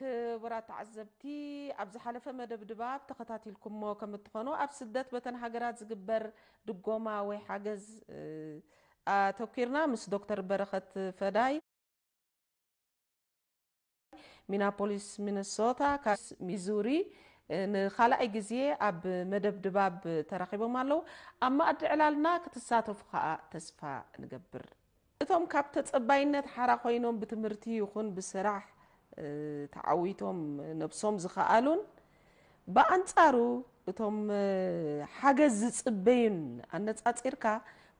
ክቡራት ተዓዘብቲ፣ ኣብ ዝሓለፈ መደብ ድባብ ተኸታቲልኩሞ ከም እትኾኑ፣ ኣብ ስደት በተን ሃገራት ዝግበር ድጎማ ወይ ሓገዝ፣ እ፣ ኣተኲርና ምስ ዶክተር በረኸት ፈዳይ፣ ሚናፖሊስ፣ ሚነሶታ፣ ካብ ሚዙሪ፣ እ፣ ንኻልኣይ ግዜ ኣብ መደብ ድባብ ተራኺቦም ኣለዉ። ኣብ መኣዲ ዕላልና ክትሳተፉ ከኣ ተስፋ ንገብር። እቶም ካብ ተጸባይነት ሓራ ኮይኖም ብትምህርቲ ይኹን ብስራሕ፣ እ፣ ተዓዊቶም ነብሶም ዝኸኣሉን፣ ብኣንጻሩ እቶም፣ እ፣ ሓገዝ ዝጽበዩን ኣነጻጺርካ፣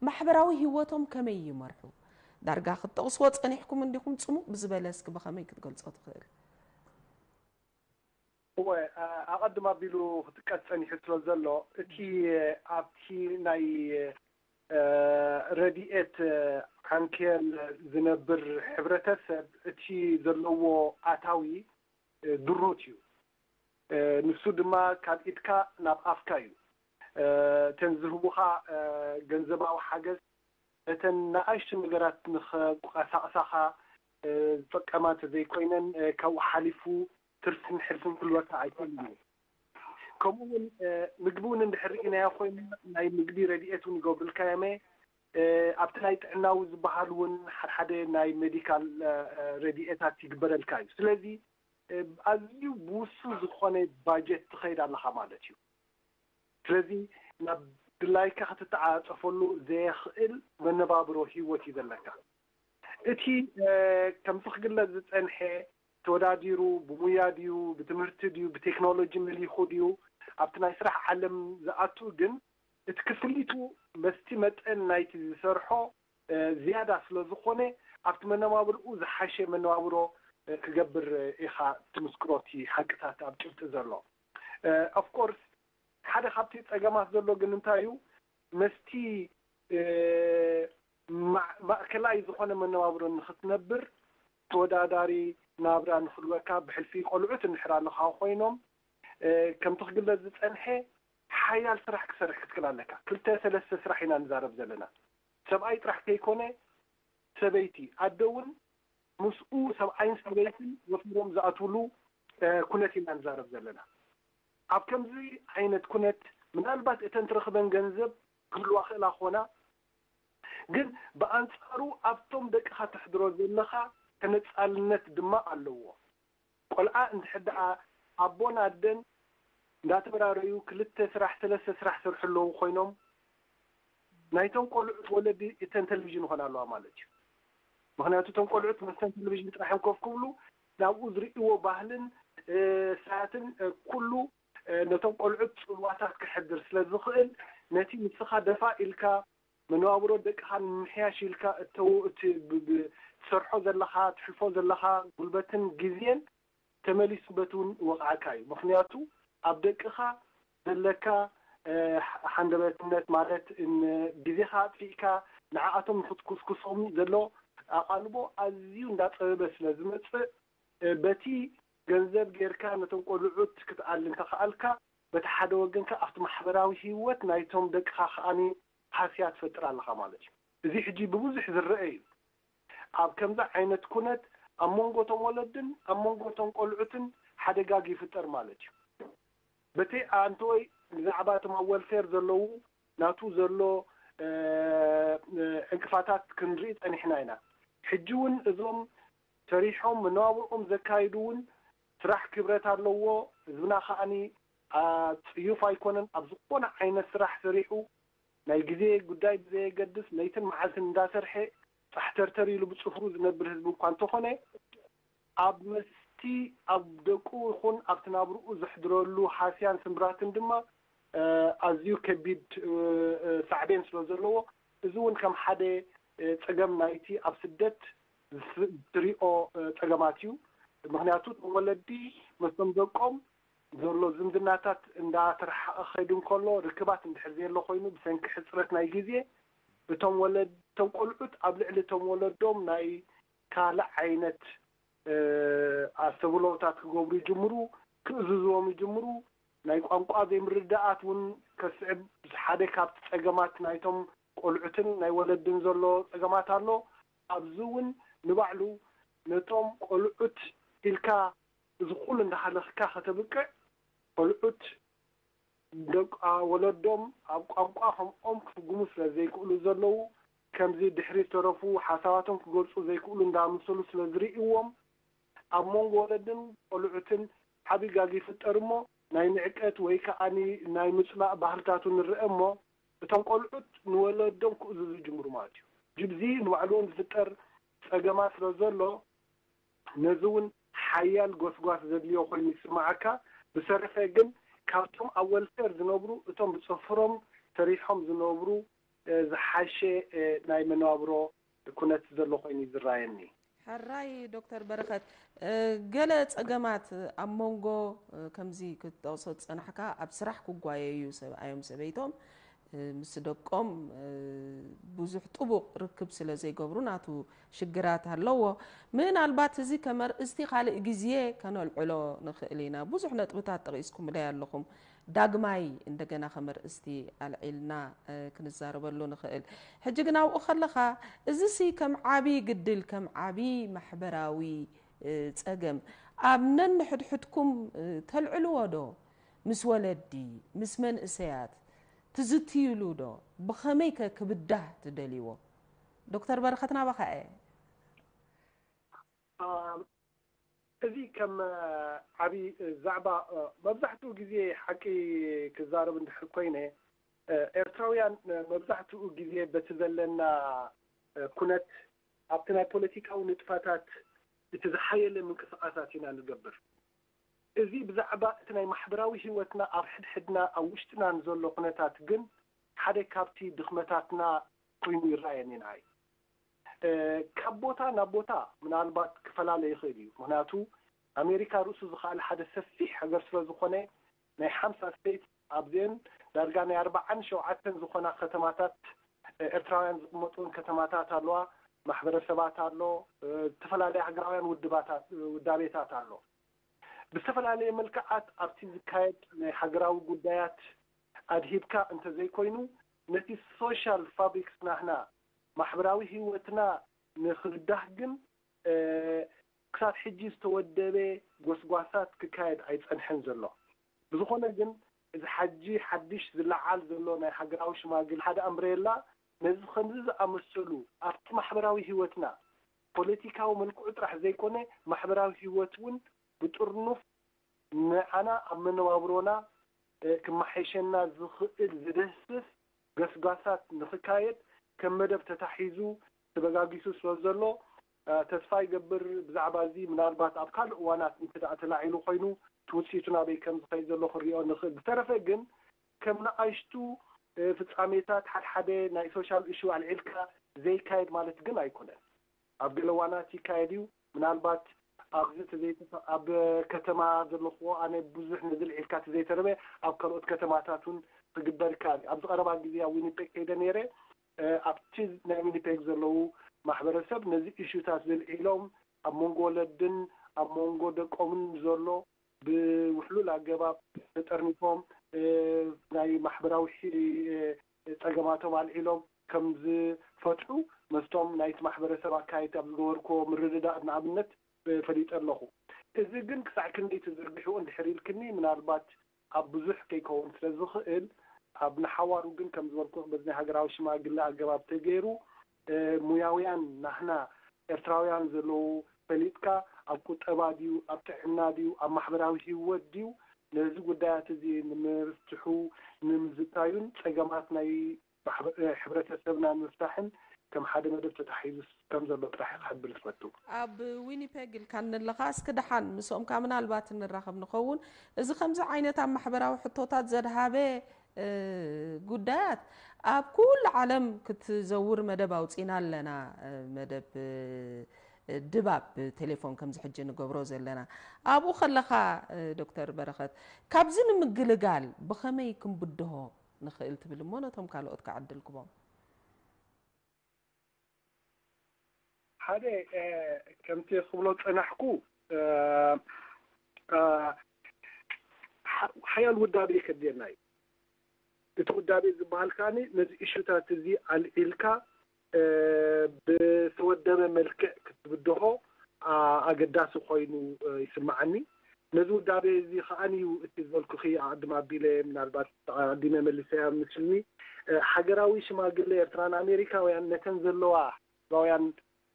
ማሕበራዊ ህይወቶም ከመይ ይመርሑ? ዳርጋ ክትጠቕስዎ ጸኒሕኩም እንዲኹም፣ ጽሙእ ብዝበለ እስኪ ብኸመይ ክትገልጾ ትኽእል? እወ፣ ኣ-፣ ኣቐድም ኣቢሉ ክጥቀስ ጸኒሑ ስለ ዘሎ፣ እቲ ኣብቲ ናይ፣ እ፣ ረድኤት፣ እ፣ ዓንኬል ዝነብር ሕብረተሰብ፣ እቲ ዘለዎ ኣታዊ፣ እ፣ ድሩት እዩ። እ፣ ንሱ ድማ ካብ ኢድካ ናብ ኣፍካ እዩ። እ፣ እተን ዝህቡኻ፣ እ፣ ገንዘባዊ ሓገዝ፣ እተን ንኣሽቱ ነገራት ንኸንቀሳቕሳኻ፣ እ፣ ዝጠቀማ እንተዘይኮይነን፣ እ፣ ካብኡ ሓሊፉ ትርፍን ሕልፍን ክህልወካ ኣይክእልን እዩ። ከምኡ እውን፣ እ፣ ምግቢ እውን እንድሕር ርኢናዮ ኮይንና፣ ናይ ምግቢ ረድኤት እውን ይገብሩልካ እዮም። እ፣ ኣብቲ ናይ ጥዕናዊ ዝበሃል እውን ሓድሓደ ናይ ሜዲካል፣ እ፣ እ፣ ረድኤታት ይግበረልካ እዩ። ስለዚ፣ እ፣ ኣዝዩ ብውሱን ዝኾነ ባጀት ትኸይድ ኣለኻ ማለት እዩ። ስለዚ ናብ ድላይካ ክትተዓጻጸፈሉ ዘየኽእል መነባብሮ ህይወት እዩ ዘለካ። እቲ፣ እ፣ ከምቲ ክግለጽ ዝጸንሐ ተወዳዲሩ ብሙያ ድዩ፣ ብትምህርቲ ድዩ፣ ብቴክኖሎጂ መሊኹ ድዩ፣ ኣብቲ ናይ ስራሕ ዓለም ዝኣቱ ግን እቲ ክፍሊቱ በቲ መጠን ናይቲ ዝሰርሖ፣ እ፣ ዝያዳ ስለ ዝኾነ ኣብቲ መነባብርኡ ዝሓሸ መነባብሮ፣ እ፣ ክገብር፣ እ፣ ኢኻ ትምስክሮ እቲ ሓቅታት ኣብ ጭብጢ ዘሎ። እ፣ ኦፍ ኮርስ ሓደ ካብቲ ጸገማት ዘሎ ግን እንታይ እዩ? መስቲ፣ እ፣ ማ-፣ ማእከላይ ዝኾነ መነባብሮ ንኽትነብር ተወዳዳሪ ናብራ ንኽህልወካ ብሕልፊ ቆልዑት እንድሕር ኣለኻ ኮይኖም፣ እ፣ ከምቲ ክግለጽ ዝጸንሐ ሓያል ስራሕ ክሰርሕ ክትክእል ኣለካ። ክልተ ሰለስተ ስራሕ ኢና ንዛረብ ዘለና። ሰብኣይ ጥራሕ ከይኮነ ሰበይቲ፣ ኣደ እውን ምስኡ ሰብኣይን ሰበይትን ወፊሮም ዝኣትውሉ፣ እ፣ ኩነት ኢና ንዛረብ ዘለና። ኣብ ከምዚ ዓይነት ኩነት ምናልባት እተን ትረኽበን ገንዘብ ክህልዋ ክእላ ክኾና፣ ግን ብኣንጻሩ ኣብቶም ደቅኻ ተሕድሮ ዘለኻ ተነጻልነት ድማ ኣለዎ። ቆልዓ እንድሕር ደኣ ኣቦን ኣደን እንዳተበራረዩ ክልተ ስራሕ ሰለስተ ስራሕ ሰርሑ ኣለዉ ኮይኖም ናይቶም ቆልዑት ወለዲ እተን ቴሌቪዥን ይኾና ኣለዋ ማለት እዩ። ምኽንያቱ እቶም ቆልዑት መስተን ቴሌቪዥን ጥራሕ እዮም ኮፍ ክብሉ ናብኡ ዝርእይዎ ባህልን፣ እ፣ ሰዓትን፣ እ፣ ኩሉ፣ እ፣ ነቶም ቆልዑት ጽልዋታት ክሕድር ስለ ዝኽእል ነቲ ንስኻ ደፋ ኢልካ መነባብሮ ደቅኻ ንምምሕያሽ ኢልካ እተው-፣ እቲ ብ-፣ ብ-፣ ትሰርሖ ዘለኻ፣ ትሕልፎ ዘለኻ ጉልበትን ግዜን ተመሊሱ በቲ እውን ይወቕዓካ እዩ። ምኽንያቱ ኣብ ደቅኻ ዘለካ፣ እ፣ ሓ-፣ ሓንደበትነት ማለት ን-፣ ግዜኻ ኣጥፊእካ ንዓኣቶም ንኽትኩስኩሶም ዘሎ ኣቓልቦ ኣዝዩ እንዳጸበበ ስለ ዝመጽእ፣ እ፣ በቲ ገንዘብ ጌርካ ነቶም ቆልዑት ክትኣሊ እንተኸኣልካ፣ በቲ ሓደ ወገን ከኣ ኣብቲ ማሕበራዊ ህይወት ናይቶም ደቅኻ ከኣኒ ሃስያ ትፈጥር ኣለኻ ማለት እዩ። እዚ ሕጂ ብብዙሕ ዝረአ እዩ። ኣብ ከምዚ ዓይነት ኩነት ኣብ መንጎ እቶም ወለድን ኣብ መንጎ እቶም ቆልዑትን ሓደጋ ይፍጠር ማለት እዩ። በቲ ኣንተወይ ብዛዕባ እቶም ኣብ ወልፌር ዘለዉ ናቱ ዘሎ፣ እ፣ እ፣ ዕንቅፋታት ክንርኢ ጸኒሕና ኢና። ሕጂ እውን እዞም ሰሪሖም መነባብርኦም ዘካይዱ እውን ስራሕ ክብረት ኣለዎ። ህዝብና ከኣኒ፣ ኣ፣ ጽዩፍ ኣይኮነን። ኣብ ዝኾነ ዓይነት ስራሕ ሰሪሑ ናይ ግዜ ጉዳይ ብዘየገድስ ለይትን መዓልትን እንዳሰርሐ ጻሕተርተር ኢሉ ብጽፍሩ ዝነብር ህዝቢ እኳ እንተኾነ ኣብ መስቲ ኣብ ደቁ ይኹን ኣብቲ ናብርኡ ዘሕድረሉ ሃስያን ስምብራትን ድማ፣ እ፣ ኣዝዩ ከቢድ፣ እ፣ እ፣ ሳዕቤን ስለ ዘለዎ እዚ እውን ከም ሓደ፣ እ፣ ጸገም ናይቲ ኣብ ስደት ዝስ-፣ ዝትሪኦ፣ እ፣ ጸገማት እዩ። ምኽንያቱ እቶም ወለዲ ምስቶም ደቆም ዘሎ ዝምድናታት እንዳተረሓቐ ክኸይድ እንከሎ ርክባት እንድሕር ዘየሎ ኮይኑ ብሰንኪ ሕጽረት ናይ ግዜ እቶም ወለድ-፣ እቶም ቆልዑት ኣብ ልዕሊ እቶም ወለዶም ናይ ካልእ ዓይነት፣ እ፣ ኣስተብህሎታት ክገብሩ ይጅምሩ፣ ክእዝዝዎም ይጅምሩ። ናይ ቋንቋ ዘይምርድዳኣት እውን ከስዕብ ሓደ ካብቲ ጸገማት ናይቶም ቆልዑትን ናይ ወለድን ዘሎ ጸገማት ኣሎ። ኣብዚ እውን ንባዕሉ ነቶም ቆልዑት ኢልካ እዚ ኩሉ እንዳሃለኽካ ከተብቅዕ፣ ቆልዑት ደቂ ወለዶም ኣብ ቋንቋ ከምኦም ክፍጉሙ ስለ ዘይክእሉ ዘለዉ፣ ከምዚ ድሕሪ ዝተረፉ ሓሳባቶም ክገልጹ ዘይክእሉ እንዳመሰሉ ስለ ዝርእይዎም፣ ኣብ መንጎ ወለድን ቆልዑትን ዓቢ ጋግ ይፍጠር እሞ፣ ናይ ንዕቀት ወይ ከኣ ናይ ምጽላእ ባህልታቱ ንርአ እሞ፣ እቶም ቆልዑት ንወለዶም ክእዝዙ ይጅምሩ ማለት እዩ። ጅብዚ ንባዕሉ እውን ዝፍጠር ጸገማት ስለ ዘሎ፣ ነዚ እውን ሓያል ጎስጓስ ዘድልዮ ኮይኑ ይስምዓካ። ብሰረፈ ግን ካብቶም ኣብ ወልፌር ዝነብሩ፣ እቶም ብጽፍሮም ሰሪሖም ዝነብሩ፣ እ፣ ዝሓሸ፣ እ፣ ናይ መነባብሮ ኩነት ዘሎ ኮይኑ እዩ ዝረኣየኒ። ሕራይ ዶክተር በረኸት፣ እ፣ ገለ ጸገማት ኣብ መንጎ፣ እ፣ ከምዚ ክትጠቕሶ ዝጸናሕካ ኣብ ስራሕ ክጓየዩ ሰብኣዮም ሰበይቶም፣ እ፣ ምስ ደቆም፣ እ፣ ብዙሕ ጥቡቕ ርክብ ስለ ዘይገብሩ ናቱ ሽግራት ኣለዎ። ምናልባት እዚ ከም ኣርእስቲ ካልእ ግዜ ከነልዕሎ ንኽእል ኢና። ብዙሕ ነጥብታት ጠቒስኩምለይ ኣለኹም። ዳግማይ እንደገና ከም ኣርእስቲ ኣልዒልና፣ እ፣ ክንዛረበሉ ንኽእል። ሕጂ ግን ኣብኡ ከለኻ፣ እዚሲ ከም ዓቢ ግድል፣ ከም ዓቢ ማሕበራዊ፣ እ፣ ጸገም ኣብ ነንሕድሕድኩም፣ እ፣ ተልዕልዎ ዶ? ምስ ወለዲ፣ ምስ መንእሰያት ትዝትይሉ ዶ? ብኸመይ ከ ክብዳህ ትደልይዎ? ዶክተር በረኸት ናባኻ እየ። አ፣ እዚ ከም፣ አ፣ ዓቢ ዛዕባ፣ አ፣ መብዛሕትኡ ግዜ ሓቂ ክዛረብ እንድሕር ኮይነ፣ አ፣ ኤርትራውያን፣ አ፣ መብዛሕትኡ ግዜ በቲ ዘለና፣ አ፣ ኩነት ኣብቲ ናይ ፖለቲካዊ ንጥፈታት እቲ ዝሓየለ ምንቅስቓሳት ኢና ንገብር። እዚ ብዛዕባ እቲ ናይ ማሕበራዊ ህይወትና ኣብ ሕድሕድና ኣብ ውሽጥና ንዘሎ ኩነታት ግን ሓደ ካብቲ ድኽመታትና ኮይኑ ይረኣየኒ ንዓይ። እ፣ ካብ ቦታ ናብ ቦታ ምናልባት ክፈላለ ይኽእል እዩ። ምኽንያቱ ኣሜሪካ ርእሱ ዝኸኣለ ሓደ ሰፊሕ ሃገር ስለ ዝኾነ ናይ ሓምሳ ስቴት ኣብዚአን ዳርጋ ናይ ኣርባዓን ሸውዓተን ዝኾና ከተማታት፣ እ፣ ኤርትራውያን ዝቕመጡን ከተማታት ኣለዋ፣ ማሕበረሰባት ኣሎ፣ እ፣ ዝተፈላለያ ሃገራውያን ውድባታት፣ ውዳቤታት ኣሎ። ብዝተፈላለየ መልክዓት ኣብቲ ዝካየድ ናይ ሃገራዊ ጉዳያት ኣድሂብካ እንተዘይኮይኑ፣ ነቲ ሶሻል ፋብሪክስ ናህና፣ ማሕበራዊ ህይወትና ንኽብዳህ ግን፣ እ፣ ክሳብ ሕጂ ዝተወደበ ጎስጓሳት ክካየድ ኣይጸንሐን ዘሎ። ብዝኾነ ግን፣ እዚ ሓጂ ሓድሽ ዝለዓል ዘሎ ናይ ሃገራዊ ሽማግለ ሓደ ኣምብሬላ፣ ነዚ ከምዚ ዝኣመሰሉ ኣብቲ ማሕበራዊ ህይወትና፣ ፖለቲካዊ መልክዑ ጥራሕ ዘይኮነ፣ ማሕበራዊ ህይወት እውን ብጥርኑፍ ንዓና ኣብ መነባብሮና፣ እ፣ ክመሓየሸና ዝኽእል ዝድህስስ ገስጋሳት ንኽካየድ ከም መደብ ተታሒዙ ተበጋጊሱ ስለ ዘሎ፣ እ፣ ተስፋ ይገብር ብዛዕባ እዚ ምናልባት ኣብ ካልእ እዋናት እንተ ደኣ ተላዒሉ ኮይኑ እቲ ውጽኢቱ ናበይ ከም ዝኸይድ ዘሎ ክንሪኦ ንኽእል። ብተረፈ ግን ከም ንኣሽቱ፣ እ፣ ፍጻሜታት ሓድሓደ ናይ ሶሻል ኢሹ ኣልዒልካ ዘይካየድ ማለት ግን ኣይኮነን። ኣብ ገለ እዋናት ይካየድ እዩ። ምናልባት ኣብዚ ተዘይተ-፣ ኣብ ከተማ ዘለኹዎ ኣነ ብዙሕ ነዚ ልዒልካ ተዘይተረበ ኣብ ካልኦት ከተማታት እውን ክግበር ይከኣል እዩ። ኣብዚ ቀረባ ግዜ ኣብ ዊኒፔግ ከይደ ነይረ። እ፣ ኣብቲ ናይ ዊኒፔግ ዘለዉ ማሕበረሰብ ነዚ ኢሹታት ዘልዒሎም ኣብ መንጎ ወለድን ኣብ መንጎ ደቆምን ዘሎ ብውሕሉል ኣገባብ ተጠርኒፎም፣ እ፣ ናይ ማሕበራዊ ሒ-፣ እ፣ ጸገማቶም ኣልዒሎም ከም ዝፈትሑ መስቶም ናይቲ ማሕበረሰብ ኣካየድቲ ኣብ ዝገበርክዎ ምርድዳእ ንኣብነት፣ እ፣ ፈሊጠ ኣለኹ። እዚ ግን ክሳዕ ክንደይ ተዘርጊሑ እንድሕር ኢልክኒ፣ ምናልባት ኣብ ብዙሕ ከይከውን ስለ ዝኽእል፣ ኣብ ንሓዋሩ ግን ከም ዝበልኩ በዚ ናይ ሃገራዊ ሽማግለ ኣገባብ ተገይሩ፣ እ፣ ሙያውያን ናህና ኤርትራውያን ዘለዉ ፈሊጥካ፣ ኣብ ቁጠባ ድዩ፣ ኣብ ጥዕና ድዩ፣ ኣብ ማሕበራዊ ህይወት ድዩ፣ ነዚ ጉዳያት እዚ ንምፍትሑ፣ ንምዝታዩን ጸገማት ናይ ማሕበ-፣ እ፣ ሕብረተሰብና ንምፍታሕን ከም ሓደ መደብ ተታሒዙ ከም ዘሎ ጥራሕ ክሕብር ዝፈቱ። ኣብ ዊኒፔግ ኢልካኒ ኣለኻ፣ እስኪ ደሓን ምስኦምካ ምናልባት ንራኸብ ንኸውን። እዚ ከምዚ ዓይነት ኣብ ማሕበራዊ ሕቶታት ዘድሃበ፣ እ፣ ጉዳያት ኣብ ኩሉ ዓለም ክትዘውር መደብ ኣውጺና ኣለና፣ እ፣ መደብ፣ እ፣ ድባብ ብቴሌፎን ከምዚ ሕጂ ንገብሮ ዘለና። ኣብኡ ከለኻ፣ እ፣ ዶክተር በረኸት፣ ካብዚ ንምግልጋል ብኸመይ ክንብድሆ ንኽእል ትብል እሞ ነቶም ካልኦት ክዕድል ክቦም። ሓደ፣ እ፣ ከምቲ ክብሎ ጸናሕኩ፣ እ፣ እ፣ ሓ-፣ ሓያል ውዳቤ ከድልየና እዩ። እቲ ውዳቤ ዝበሃል ከኣ ነዚ ኢሹታት እዚ ኣልዒልካ፣ እ፣ ብተወደበ መልክዕ ክትብድሆ፣ ኣ-፣ ኣገዳሲ ኮይኑ፣ እ፣ ይስምዓኒ። ነዚ ውዳቤ እዚ ከዓን እዩ እቲ ዝበልኩኺ ኣቐድም ኣቢለ ምናልባት ኣቐዲመ መሊሰያ ምስልኒ። ሃገራዊ ሽማግለ ኤርትራን ኣሜሪካውያን ነተን ዘለዋ ህዝባውያን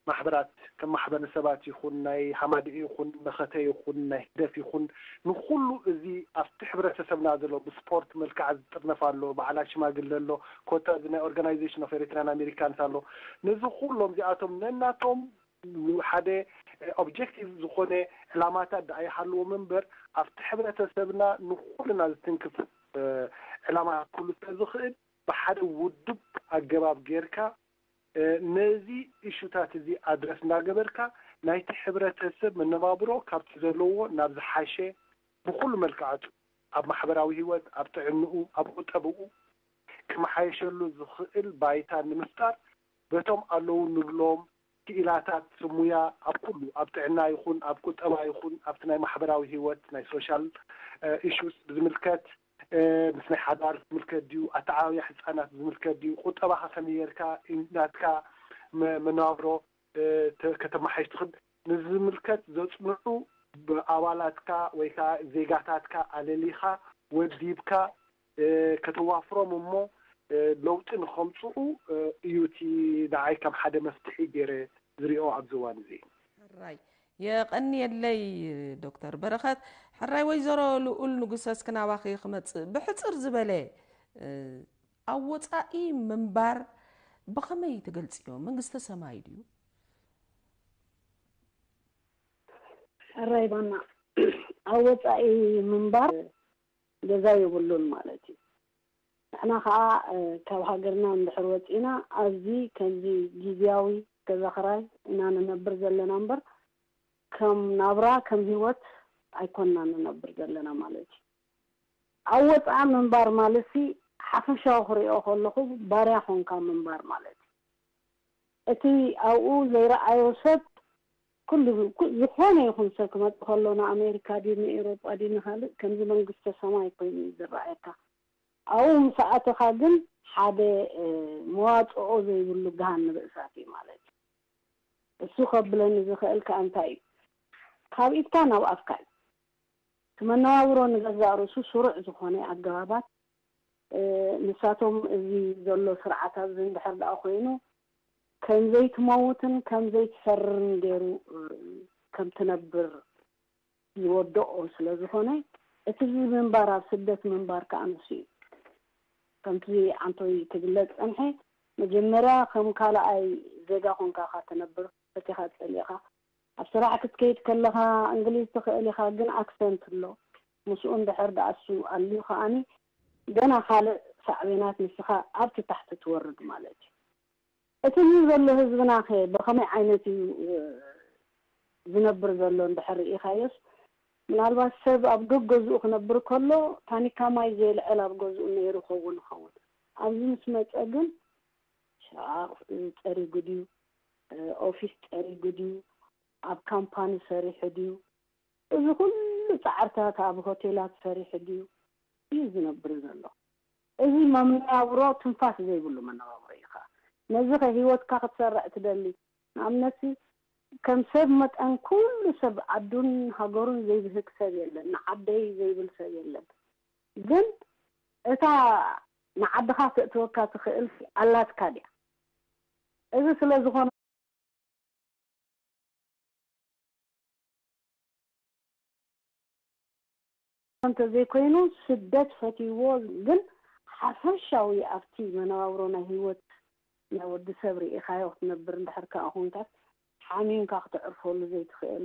ማሕበራት፣ ከም ማሕበረሰባት ይኹን ናይ ሃማድኢ ይኹን መኸተ ይኹን ናይ ህግደፍ ይኹን፣ ንኹሉ እዚ ኣብቲ ሕብረተሰብና ዘሎ ብስፖርት መልክዓ ዝጥርነፍ ኣሎ፣ በዓላት ሽማግለ ኣሎ፣ ኮታ እዚ ናይ ኦርጋናይዜሽን ኦፍ ኤሪትራን ኣሜሪካንስ ኣሎ። ነዚ ኩሎም እዚኣቶም ነናቶም ሓደ ኦብጀክቲቭ ዝኾነ ዕላማታት ደኣ ይሃልዎም እምበር፣ ኣብቲ ሕብረተሰብና ንኹልና ዝትንክፍ ዕላማ ክህሉ ስለ ዝኽእል፣ ብሓደ ውዱብ ኣገባብ ጌርካ ነዚ እሹታት እዚ ኣድረስ እናገበርካ፣ ናይቲ ሕብረተሰብ መነባብሮ ካብቲ ዘለዎ ናብ ዝሓሸ ብኹሉ መልክዓቱ፣ ኣብ ማሕበራዊ ህይወት፣ ኣብ ጥዕንኡ፣ ኣብ ቁጠብኡ ክመሓየሸሉ ዝኽእል ባይታ ንምፍጣር፣ በቶም ኣለዉ ንብሎም ክኢላታት ሙያ ኣብ ኩሉ፣ ኣብ ጥዕና ይኹን፣ ኣብ ቁጠባ ይኹን፣ ኣብቲ ናይ ማሕበራዊ ህይወት፣ ናይ ሶሻል ኢሹስ ብዝምልከት፣ ምስ ናይ ሓዳር ዝምልከት ድዩ፣ ኣተዓባብያ ህፃናት ዝምልከት ድዩ፣ ቁጠባኻ ከመይ ጌርካ ናትካ መነባብሮ ከተመሓይሽ ትኽእል ንዝምልከት ዘፅንዑ ኣባላትካ ወይ ከዓ ዜጋታትካ ኣለሊኻ ወዲብካ ከተዋፍሮም እሞ ለውጢ ንኸምፅኡ እዩ እቲ ንዓይ ከም ሓደ መፍትሒ ገይረ ዝሪኦ ኣብዚ እዋን እዚ። ሕራይ የቐንየለይ ዶክተር በረኸት። ሕራይ ወይዘሮ ልኡል ንጉሰ እስኪ ናባኺ ክመፅእ ብሕፅር ዝበለ ኣብ ወፃኢ ምንባር ብኸመይ ትገልፅዮ? መንግስተ ሰማይ ድዩ? ሕራይ ባና ኣብ ወፃኢ ምንባር ገዛ የብሉን ማለት እዩ። ንሕና ከዓ ካብ ሃገርና እንድሕር ወፂና ኣብዚ ከምዚ ግዝያዊ ገዛ ክራይ ኢና ንነብር ዘለና እምበር ከም ናብራ ከም ህይወት ኣይኮንና ንነብር ዘለና ማለት እዩ። ኣብ ወፃኢ ምንባር ማለት ሲ ሓፈሻዊ ክሪኦ ከለኹ ባርያ ኾንካ ምንባር ማለት እዩ። እቲ ኣብኡ ዘይረኣዮ ሰብ ኩሉ ዝኾነ ይኹን ሰብ ክመፅእ ከሎ ንኣሜሪካ ድዩ ንኤሮጳ ድዩ ንካልእ ከምዚ መንግስተ ሰማይ ኮይኑ እዩ ዝረኣየካ። ኣብኡ ምስ ኣተኻ ግን ሓደ መዋፅኦ ዘይብሉ ገሃነብ እሳት እዩ ማለት እዩ። እሱ ከብለኒ ዝኽእል ከኣ እንታይ እዩ? ካብ ኢድካ ናብ ኣፍካ እዩ። እቲ መነባብሮ ንገዛእ ርእሱ ስሩዕ ዝኾነ ኣገባባት ንሳቶም እዚ ዘሎ ስርዓት ኣብዚ እንድሕር ደኣ ኮይኑ ከም ዘይትመውትን ከም ዘይትሰርርን ገይሩ ከም ትነብር ዝወደኦ ስለ ዝኾነ እቲ ምንባር ኣብ ስደት ምንባር ከዓ ንሱ እዩ። ከምቲ ኣንቶይ ክግለጽ ጸንሐ መጀመርያ ከም ካልኣይ ዜጋ ኮንካ ኢኻ ትነብር ፈቲኻ ጸሊእኻ ኣብ ስራሕ ክትከይድ ከለኻ እንግሊዝ ትኽእል ኢኻ ግን ኣክሰንት ኣሎ ምስኡ እንድሕር ደኣ እሱ ኣልዩ ከኣኒ ገና ካልእ ሳዕቤናት ንስኻ ኣብቲ ታሕቲ ትወርድ ማለት እዩ። እቲ እዚ ዘሎ ህዝብና ከ ብኸመይ ዓይነት እዩ ዝነብር ዘሎ እንድሕር ርኢኻዮስ ምናልባት ሰብ ኣብ ገገዝኡ ክነብር ከሎ ታኒካ ማይ ዘየልዕል ኣብ ገዝኡ ነይሩ ኸውን ይኸውን ኣብዚ ምስ መፀ ግን ሻቕ ፀሪጉ ድዩ ኦፊስ ፀሪጉ ድዩ ኣብ ካምፓኒ ሰሪሑ ድዩ እዚ ኩሉ ፃዕርታት ኣብ ሆቴላት ሰሪሑ ድዩ እዩ ዝነብር ዘሎ እዚ መነባብሮ ትንፋስ ዘይብሉ መነባብሮ እዩ ከዓ ነዚ ከ ህይወትካ ክትሰርዕ ትደሊ ንኣብነት ከም ሰብ መጠን ኩሉ ሰብ ዓዱን ሃገሩን ዘይብህግ ሰብ የለን ንዓደይ ዘይብል ሰብ የለን ግን እታ ንዓድኻ ክእትወካ ትኽእል ኣላትካ ድያ እዚ ስለ ዝኾነ እንተዘይኮይኑ ስደት ፈትይዎ ግን ሓፈሻዊ ኣብቲ መነባብሮ ናይ ህይወት ናይ ወዲ ሰብ ርኢኻዮ ክትነብር እንድሕር ከኣ ኮንካስ ሓሚምካ ክተዕርፈሉ ዘይትኽእል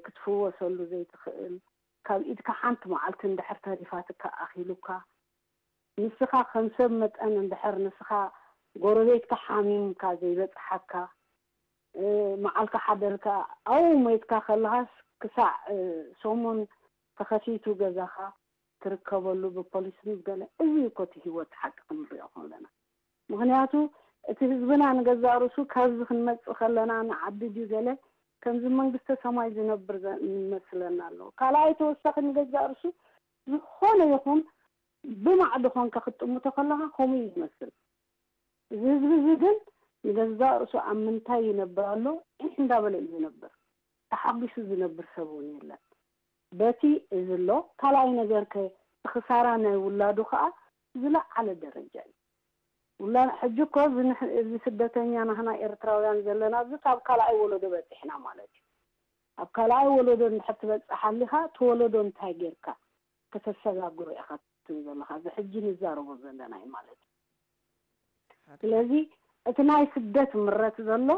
ክትፍወሰሉ ዘይትኽእል ካብ ኢድካ ሓንቲ መዓልቲ እንድሕር ተሪፋትካ ኣኺሉካ ንስኻ ከም ሰብ መጠን እንድሕር ንስኻ ጎረቤትካ ሓሚምካ ዘይበፅሓካ መዓልካ ሓደርካ ኣብኡ ሞይትካ ከለኻስ ክሳዕ ሰሙን ተኸፊቱ ገዛኻ ትርከበሉ ብፖሊስ ምስ ገለ እዚ እኮ እቲ ህይወት ሓቂ ክንሪኦ ከለና ምኽንያቱ እቲ ህዝብና ንገዛእ ርእሱ ካብዚ ክንመፅእ ከለና ንዓዲ ድዩ ገለ ከምዚ መንግስተ ሰማይ ዝነብር ይመስለና ኣሎ ካልኣይ ተወሳኺ ንገዛእ ርእሱ ዝኾነ ይኹን ብማዕዶ ኮንካ ክትጥምቶ ከለኻ ከምኡ እዩ ዝመስል። እዚ ህዝቢ እዚ ግን ንገዛእ ርእሱ ኣብ ምንታይ ይነብር ኣሎ ዒሕ እንዳበለ እዩ ዝነብር። ተሓጒሱ ዝነብር ሰብ እውን የለን። በቲ እዚ ኣሎ። ካልኣይ ነገር ከ እቲ ክሳራ ናይ ውላዱ ከዓ ዝለዓለ ደረጃ እዩ። ውላ-፣ ሕጂ እኮ እዚ ንሕ-፣ እዚ ስደተኛ ናህና ኤርትራውያን ዘለና እዚ ካብ ካልኣይ ወለዶ በፂሕና ማለት እዩ። ኣብ ካልኣይ ወለዶ እንድሕር ትበፅሕ ኣሊኻ እቲ ወለዶ እንታይ ጌርካ ከተሰጋግሮ ኢኻ ትብል ዘለኻ? እዚ ሕጂ ንዛረቦ ዘለና እዩ ማለት እዩ። ስለዚ እቲ ናይ ስደት ምረት ዘሎ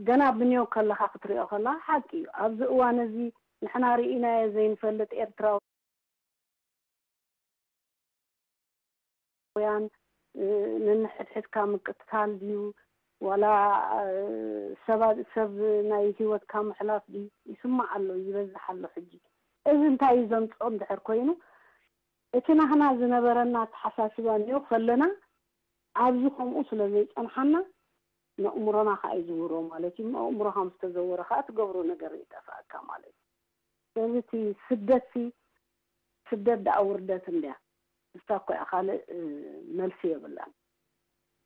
ገና ብንዮ ከለኻ ክትሪኦ ከለኻ ሓቂ እዩ። ኣብዚ እዋን እዚ ንሕና ርኢናዮ ዘይንፈልጥ ኤርትራውያን፣ እ፣ ነንሕድሕድካ ምቅትታል ድዩ ዋላ፣ እ፣ ሰባ-፣ ሰብ ናይ ህይወትካ ምሕላፍ ድዩ ይስማዕ ኣሎ፣ ይበዝሕ ኣሎ። ሕጂ እዚ እንታይ እዩ ዘምፅኦ እንድሕር ኮይኑ፣ እቲ ናህና ዝነበረና ኣተሓሳስባ እንዮ ከለና ኣብዚ ከምኡ ስለ ዘይፀንሓና፣ ነእምሮና ከዓ ይዝውሮ ማለት እዩ። ኣእምሮኻ ምስ ተዘወረ ከዓ ትገብሮ ነገር ይጠፍኣካ ማለት እዩ። ስለዚ እቲ ስደት ሲ፣ ስደት ደኣ ውርደት እንድያ። ንሳ እኮ እያ፣ ካልእ፣ እ፣ መልሲ የብላን።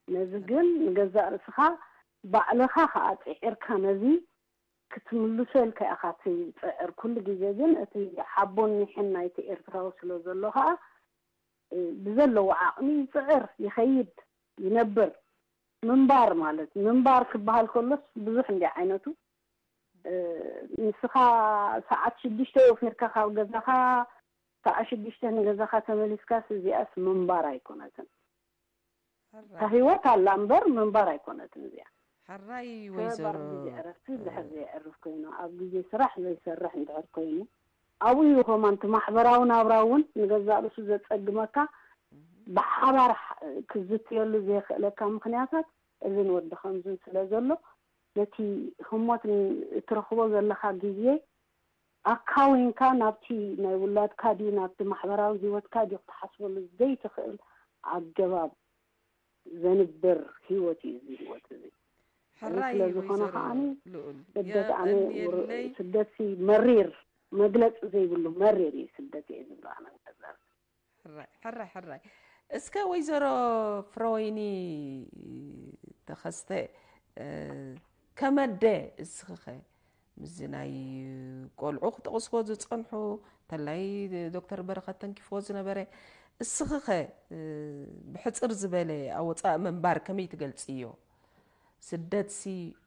ነዚ ግን ንገዛእ ርእስኻ ባዕልኻ ከዓ ፅዒርካ ነዚ ክትምልሶ ኢልካ ኢኻ ትፅዕር። ኩሉ ግዜ ግን እቲ ሓቦን ኒሕን ናይቲ ኤርትራዊ ስለ ዘሎ ከዓ፣ እ፣ ብዘለዎ ዓቕሚ ይፅዕር፣ ይኸይድ፣ ይነብር። ምንባር ማለት፣ ምንባር ክበሃል ከሎስ ብዙሕ እንዲ ዓይነቱ። እ፣ ንስኻ ሰዓት ሽዱሽተ ወፊርካ ካብ ገዛኻ፣ ሰዓት ሽዱሽተ ንገዛኻ ተመሊስካስ እዚኣስ ምንባር ኣይኮነትን። እታ ህይወት ኣላ እምበር ምንባር ኣይኮነትን እዚኣ። ሕራይ። ወይዘሮ፣ ግዜ ዕረፍቲ እንድሕር ዘየዕርፍ ኮይኑ፣ ኣብ ግዜ ስራሕ ዘይሰርሕ እንድሕር ኮይኑ፣ ኣብኡ እዩ ከማን እቲ ማሕበራዊ ናብራ እውን ንገዛእ ርእሱ ዘጸግመካ። ብሓባር ሕ-፣ ክዝትየሉ ዘይኽእለካ ምኽንያታት እዝን ወዲ ከምዝን ስለ ዘሎ፣ ነቲ ህሞት ን-፣ እትረኽቦ ዘለኻ ግዜ ኣካዊንካ ናብቲ ናይ ውላድካ ድዩ ናብቲ ማሕበራዊ ህይወትካ ድዩ ክትሓስበሉ ዘይትኽእል ኣገባብ ዘንብር ህይወት እዩ እዚ ህይወት እዚ። ሕራይ ስለ ዝኾነ ወይዘሮ ከዓኒ ልኡል፣ ስደት ኣነ የቐንየለይ። ስደትሲ መሪር፣ መግለጺ ዘይብሉ መሪር እዩ ስደት እየ ዝብሎ ኣነ። ሕራይ፣ ሕራይ፣ ሕራይ። እስከ ወይዘሮ ፍረወይኒ ተኸስተ፣ እ፣ ከመደ እስኽኸ ምስዚ ናይ ቆልዑ ክጠቕስዎ ዝጸንሑ፣ እንተላይ ዶክተር በረኸት ተንኪፍዎ ዝነበረ፣ እስኽኸ፣ እ፣ ብሕጽር ዝበለ ኣወጻእ ምንባር ከመይ ትገልጽዮ? ስደትሲ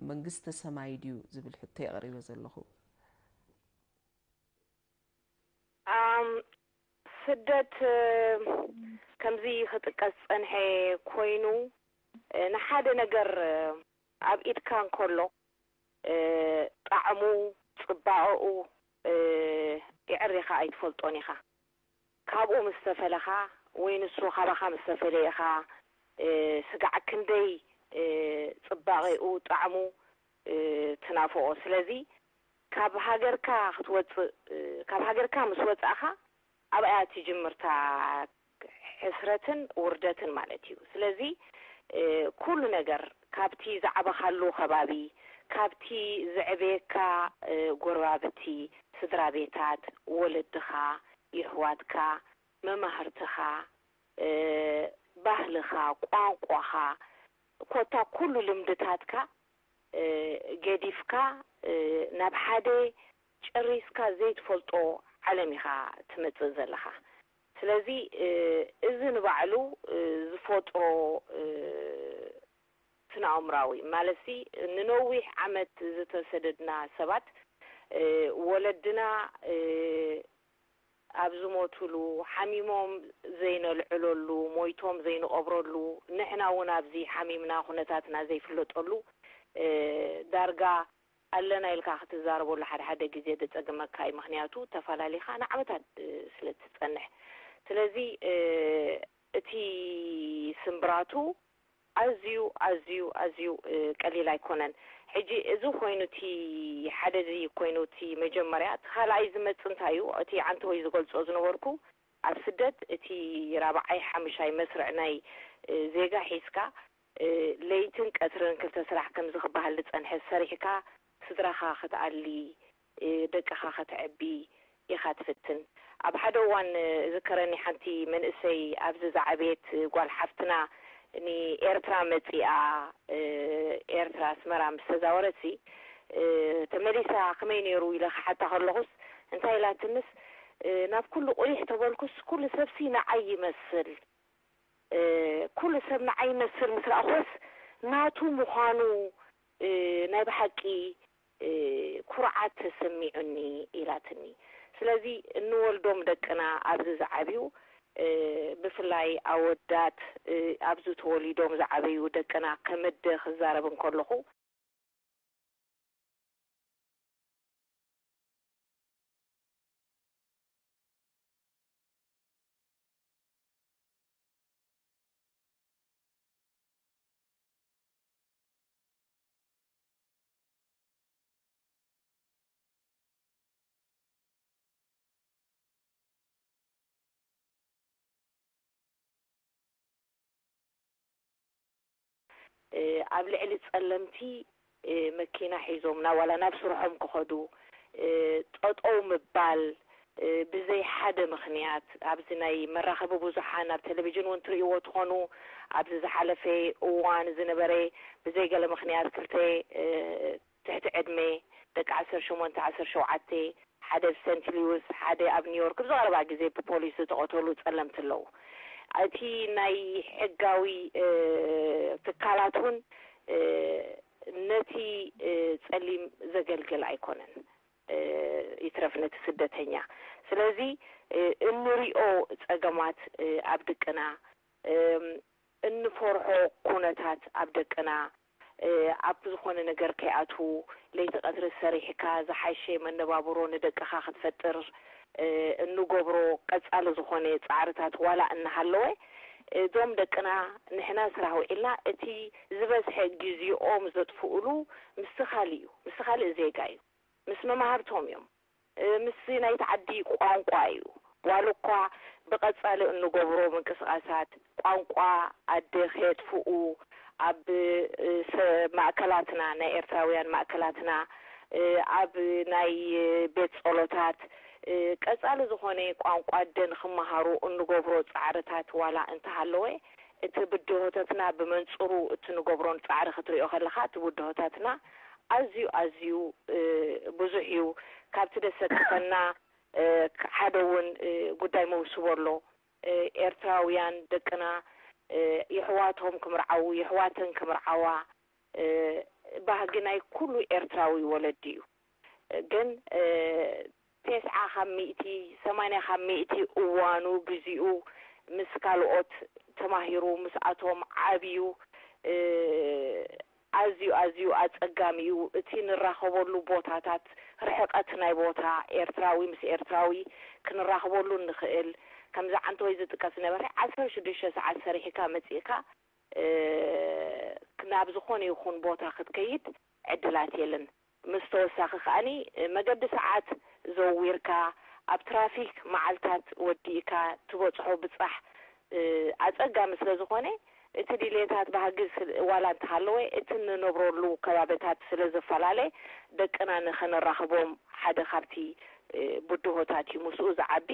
መንግስተ ሰማይ ድዩ ዝብል ሕቶ የቕሪበ ዘለኹ። ኣም፣ ስደት፣ እ፣ ከምዚ ክጥቀስ ዝጸንሐ ኮይኑ፣ እ፣ ንሓደ ነገር፣ እ፣ ኣብ ኢድካ እንከሎ፣ እ፣ ጣዕሙ፣ ጽባቐኡ፣ እ፣ የዕሪኻ ኣይትፈልጦን ኢኻ። ካብኡ ምስ ተፈለኻ ወይ ንሱ ካባኻ ምስ ተፈለየ ኢኻ፣ እ፣ ስጋዕ ክንደይ፣ እ፣ ጽባቐኡ፣ ጣዕሙ፣ እ፣ ትናፍቖ። ስለዚ ካብ ሃገርካ ክትወጽእ፣ እ፣ ካብ ሃገርካ ምስ ወጻእኻ ኣብኣ እያ ትጅምር እታ ሕስረትን ውርደትን ማለት እዩ። ስለዚ፣ እ፣ ኩሉ ነገር ካብቲ ዝዓበኻሉ ከባቢ፣ ካብቲ ዘዕበየካ፣ እ፣ ጎረባብቲ፣ ስድራ ቤታት፣ ወለድኻ፣ የሕዋትካ፣ መማህርትኻ፣ እ፣ ባህልኻ፣ ቋንቋኻ፣ ኮታ ኩሉ ልምድታትካ፣ እ፣ ገዲፍካ፣ እ፣ ናብ ሓደ ጨሪስካ ዘይትፈልጦ ዓለም ኢኻ ትመጽእ ዘለኻ። ስለዚ፣ እ፣ እዚ ንባዕሉ፣ እ፣ ዝፈጥሮ፣ እ፣ ስነ-ኣእምራዊ ማለትሲ፣ ንነዊሕ ዓመት ዝተሰደድና ሰባት፣ እ፣ ወለድና፣ እ፣ ኣብ ዝሞቱሉ፣ ሓሚሞም ዘይነልዕለሉ፣ ሞይቶም ዘይንቐብረሉ፣ ንሕና እውን ኣብዚ ሓሚምና ኩነታትና ዘይፍለጠሉ፣ እ፣ ዳርጋ ኣለና ኢልካ ክትዛረበሉ ሓደ ሓደ ግዜ ዘጸግመካ እዩ። ምኽንያቱ ተፈላሊኻ ንዓመታት፣ እ፣ ስለ እትጸንሕ። ስለዚ፣ እ፣ እቲ ስምብራቱ ኣዝዩ፣ ኣዝዩ፣ ኣዝዩ፣ እ፣ ቀሊል ኣይኮነን። ሕጂ እዚ ኮይኑ እቲ ሓደ እዚ ኮይኑ እቲ መጀመርያ፣ እቲ ካልኣይ ዝመጽእ እንታይ እዩ? እቲ ዓንተወይ ዝገልጾ ዝነበርኩ፣ ኣብ ስደት እቲ ራብዓይ ሓምሻይ መስርዕ ናይ፣ እ፣ ዜጋ ሒዝካ፣ እ፣ ለይትን ቀትርን ክልተ ስራሕ ከምዚ ክበሃል ዝጸንሐ ሰሪሕካ ስድራኻ ክትኣሊ፣ እ፣ ደቅኻ ከተዕቢ ኢኻ ትፍትን። ኣብ ሓደ እዋን፣ እ፣ እዝከረኒ ሓንቲ መንእሰይ ኣብዚ ዝዓበየት ጓል ሓፍትና ንኤርትራ መጺኣ፣ እ፣ ኤርትራ ኣስመራ ምስ ተዛወረትሲ፣ እ፣ ተመሊሳ ከመይ ነይሩ ኢለ ክሓታ ከለኹስ፣ እንታይ ኢላትንስ ናብ ኩሉ ቁሊሕ ተበልኩስ ኩሉ ሰብሲ ንዓይ ይመስል። ኩሉ ሰብ ንዓይ ይመስል ምስ ረኣኹስ ናቱ ምዃኑ ናይ ብሓቂ ኩርዓት ተሰሚዑኒ ኢላትኒ። ስለዚ እንወልዶም ደቅና ኣብዚ ዝዓብዩ ብፍላይ ኣወዳት ኣብዚ ተወሊዶም ዝዓበዩ ደቅና ከም ኣደ ክዛረብ እንከለኹ ኣብ ልዕሊ ጸለምቲ መኪና ሒዞም ናብ ዋላ ናብ ስርሖም ክኸዱ ጠጠው ምባል ብዘይ ሓደ ምኽንያት ኣብዚ ናይ መራኸቢ ብዙሓን ኣብ ቴሌቪዥን እውን ትርእይዎ ትኾኑ ኣብዚ ዝሓለፈ እዋን ዝነበረ ብዘይ ገለ ምኽንያት ክልተ ትሕቲ ዕድመ ደቂ ዓሰርተ ሸሞንተ ዓሰርተ ሸውዓተ ሓደ ኣብ ሰንት ሉዊስ ሓደ ኣብ ኒውዮርክ ብዝቐረባ ግዜ ብፖሊስ ዝተቐተሉ ጸለምቲ ኣለዉ። እቲ ናይ ሕጋዊ ትካላት እውን ነቲ ጸሊም ዘገልግል ኣይኮነን። ይትረፍ ነቲ ስደተኛ። ስለዚ እንሪኦ ጸገማት ኣብ ድቅና፣ እንፈርሖ ኩነታት ኣብ ደቅና፣ ኣብ ዝኾነ ነገር ከይኣትዉ ለይቲ ቀትሪ ሰሪሕካ ዝሓሸ መነባብሮ ንደቅኻ ክትፈጥር እንገብሮ ቀጻሊ ዝኾነ ጻዕርታት ዋላ እናሃለወ እዞም ደቅና ንሕና ስራሕ ውዒልና እቲ ዝበዝሐ ግዜኦም ዘጥፍኡሉ ምስ ካልእ እዩ፣ ምስ ካልእ ዜጋ እዩ። ምስ መማህርቶም እዮም። ምስዚ ናይቲ ዓዲ ቋንቋ እዩ። ዋላ እኳ ብቐጻሊ እንገብሮ ምንቅስቓሳት ቋንቋ ኣደ ከየጥፍኡ ኣብ ማእከላትና ናይ ኤርትራውያን ማእከላትና ኣብ ናይ ቤት ጸሎታት ቀጻሊ ዝኾነ ቋንቋ ኣደ ንኽመሃሩ እንገብሮ ጻዕርታት ዋላ እንተሃለወ እቲ ብድሆታትና ብመንጽሩ እቲ ንገብሮን ጻዕሪ ክትሪኦ ከለኻ እቲ ብድሆታትና ኣዝዩ ኣዝዩ ብዙሕ እዩ። ካብቲ ደሰክፈና ሓደ እውን ጉዳይ መውስቦ ኣሎ። ኤርትራውያን ደቅና የሕዋቶም ክምርዓዉ የሕዋተን ክምርዓዋ ባህጊ ናይ ኩሉ ኤርትራዊ ወለዲ እዩ። ግን ተስዓ ካብ ሚእቲ ሰማንያ ካብ ሚእቲ እዋኑ ግዚኡ ምስ ካልኦት ተማሂሩ ምስኣቶም ዓብዩ ኣዝዩ ኣዝዩ ኣጸጋሚ እዩ። እቲ ንራኸበሉ ቦታታት ርሕቀት ናይ ቦታ ኤርትራዊ ምስ ኤርትራዊ ክንራኸበሉ እንኽእል ከምዚ ዓንተወይ ዝጥቀስ ዝነበረ ዓሰርተ ሽዱሽተ ሰዓት ሰሪሕካ መጺእካ ናብ ዝኾነ ይኹን ቦታ ክትከይድ ዕድላት የለን። ምስ ተወሳኺ ከኣኒ መገዲ ሰዓት ዘዊርካ ኣብ ትራፊክ መዓልታት ወዲእካ ትበጽሖ ብጻሕ ኣጸጋሚ ስለ ዝኾነ እቲ ድሌታት ባህጊ ዋላ እንተሃለወ እቲ እንነብረሉ ከባቢታት ስለ ዝፈላለ ደቅና ንኸነራኽቦም ሓደ ካብቲ ብድሆታት እዩ። ምስኡ ዝዓቢ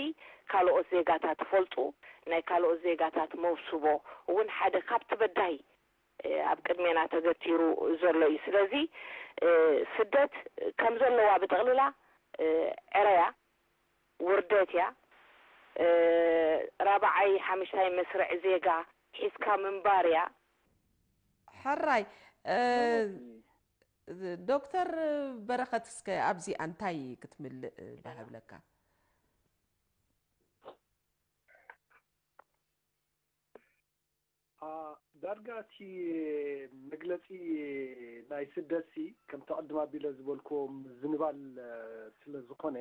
ካልኦት ዜጋታት ይፈልጡ ናይ ካልኦት ዜጋታት መውስቦ እውን ሓደ ካብቲ በዳሂ ኣብ ቅድሜና ተገቲሩ ዘሎ እዩ። ስለዚ ስደት ከም ዘለዋ ብጠቕልላ ዕረያ ውርደት እያ። ራብዓይ ሓምሽታይ መስርዕ ዜጋ ሒዝካ ምንባር እያ። ሕራይ ዶክተር በረኸት እስከ ኣብዚኣ እንታይ ክትምልእ ባሃብለካ? ዳርጋ እቲ መግለፂ ናይ ስደትሲ ከምቲ ቅድም ኣቢለ ዝበልክዎ ምዝንባል ስለ ዝኾነ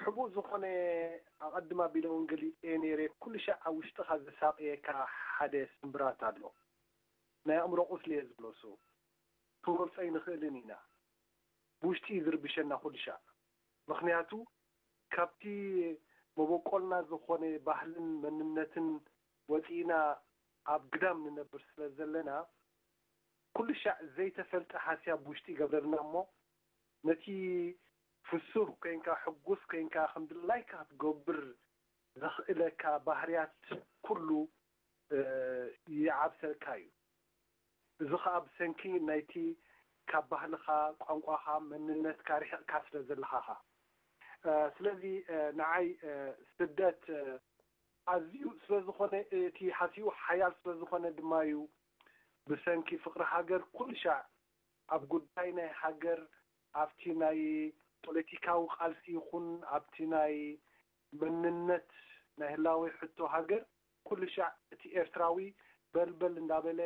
ሕቡእ ዝኾነ ኣቐድም ኣቢለ እውን ገሊፀዮ ነይረ። ኩሉ ሻዕ ኣብ ውሽጥኻ ዘሳቕየካ ሓደ ስምብራት ኣሎ። ናይ ኣእምሮ ቁስሊ እየ ዝብሎ እሱ። ክንገልፆ ኣይንኽእልን ኢና። ብውሽጢ እዩ ዝርብሸና ኩሉ ሻዕ። ምኽንያቱ ካብቲ መበቆልና ዝኾነ ባህልን መንነትን ወፂእና ኣብ ግዳም ንነብር ስለ ዘለና ኩሉ ሻዕ ዘይተፈልጠ ሃስያ ብውሽጢ ይገብረልና እሞ ነቲ ፍሱር ኮይንካ ሕጉስ ኮይንካ ከም ድላይካ ክትገብር ዘኽእለካ ባህርያት ኩሉ ይዓብሰልካ እዩ። እዚ ኸኣ ብሰንኪ ናይቲ ካብ ባህልኻ፣ ቋንቋኻ፣ መንነትካ ርሒቕካ ስለ ዘለኻ ኢኻ። እ፣ ስለዚ፣ እ፣ ንዓይ፣ እ፣ ስደት፣ እ፣ ኣዝዩ ስለ ዝኾነ፣ እቲ ሃሲኡ ሓያል ስለ ዝኾነ ድማ እዩ። ብሰንኪ ፍቕሪ ሃገር ኩሉ ሻዕ ኣብ ጉዳይ ናይ ሃገር፣ ኣብቲ ናይ ፖለቲካዊ ቃልሲ ይኹን ኣብቲ ናይ መንነት ናይ ህላዌ ሕቶ ሃገር ኩሉ ሻዕ እቲ ኤርትራዊ በልበል እንዳበለ፣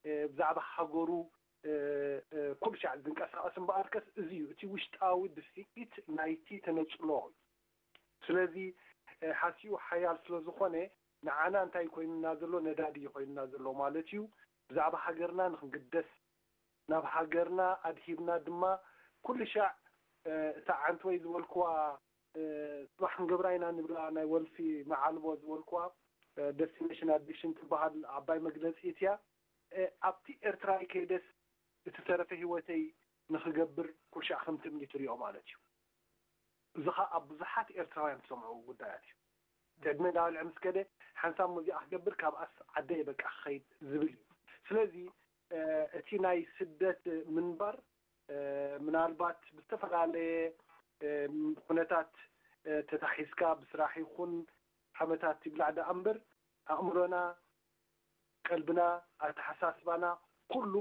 እ፣ ብዛዕባ ሃገሩ፣ እ፣ እ፣ ኩሉ ሻዕ ዝንቀሳቐስ እምበኣርከስ እዚ እዩ እቲ ውሽጣዊ ድፍኢት ናይቲ ተነጽሎ። ስለዚ፣ እ፣ ሃሲኡ ሓያል ስለ ዝኾነ ንዓና እንታይ ኮይኑና ዘሎ? ነዳዲ እዩ ኮይኑና ዘሎ ማለት እዩ። ብዛዕባ ሃገርና ንኽንግደስ፣ ናብ ሃገርና ኣድሂብና ድማ ኩሉ ሻዕ፣ እ፣ እታ ዓንተወይ ዝበልክዋ፣ እ፣ ጽባሕ ክንገብራ ኢና ንብላ ናይ ወልፊ መዓልቦ ዝበልክዋ፣ እ፣ ደስቲኔሽን ኣዲክሽን ትበሃል ዓባይ መግለጺት እያ። እ፣ ኣብቲ ኤርትራይ ከይደስ እቲ ዝተረፈ ህይወተይ ንኽገብር ኩሉ ሻዕ ከም ትምኒት ይሪኦ ማለት እዩ። እዚ ኸኣ ኣብ ብዙሓት ኤርትራውያን ትሰምዖ ጉዳያት እዩ። እቲ ዕድመ እንዳበልዐ ምስ ከደ ሓንሳብ ሙዚቃ ክገብር ካብኣስ ዓደይ በቃ ክኸይድ ዝብል እዩ። ስለዚ፣ እ፣ እቲ ናይ ስደት ምንባር፣ እ፣ ምናልባት ብዝተፈላለየ፣ እ፣ ኩነታት፣ እ፣ ተታሒዝካ ብስራሕ ይኹን ሓመታት ይብላዕ ደኣ እምበር ኣእምሮና፣ ቀልብና፣ ኣተሓሳስባና ኩሉ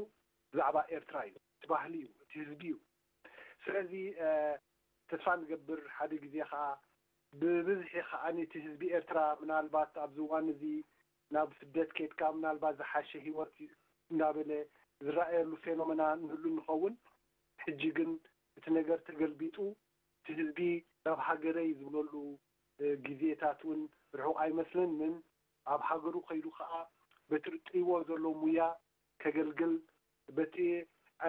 ብዛዕባ ኤርትራ እዩ። እቲ ባህሊ እዩ፣ እቲ ህዝቢ እዩ። ስለዚ፣ እ፣ ተስፋ ንገብር ሓደ ግዜ ኸኣ ብብዝሒ ኸኣ እቲ ህዝቢ ኤርትራ ምናልባት ኣብዚ እዋን እዚ ናብ ስደት ከይድካ ምናልባት ዝሓሸ ህይወት እንዳበለ ዝረኣየሉ ፌኖመና ንህሉ ንኸውን። ሕጂ ግን እቲ ነገር ተገልቢጡ፣ እቲ ህዝቢ ናብ ሃገረይ ዝብለሉ፣ እ፣ ግዜታት እውን ርሑቕ ኣይመስለንን። ኣብ ሃገሩ ከይዱ ኸኣ በቲ ርእይዎ ዘሎ ሙያ ከገልግል፣ በቲ፣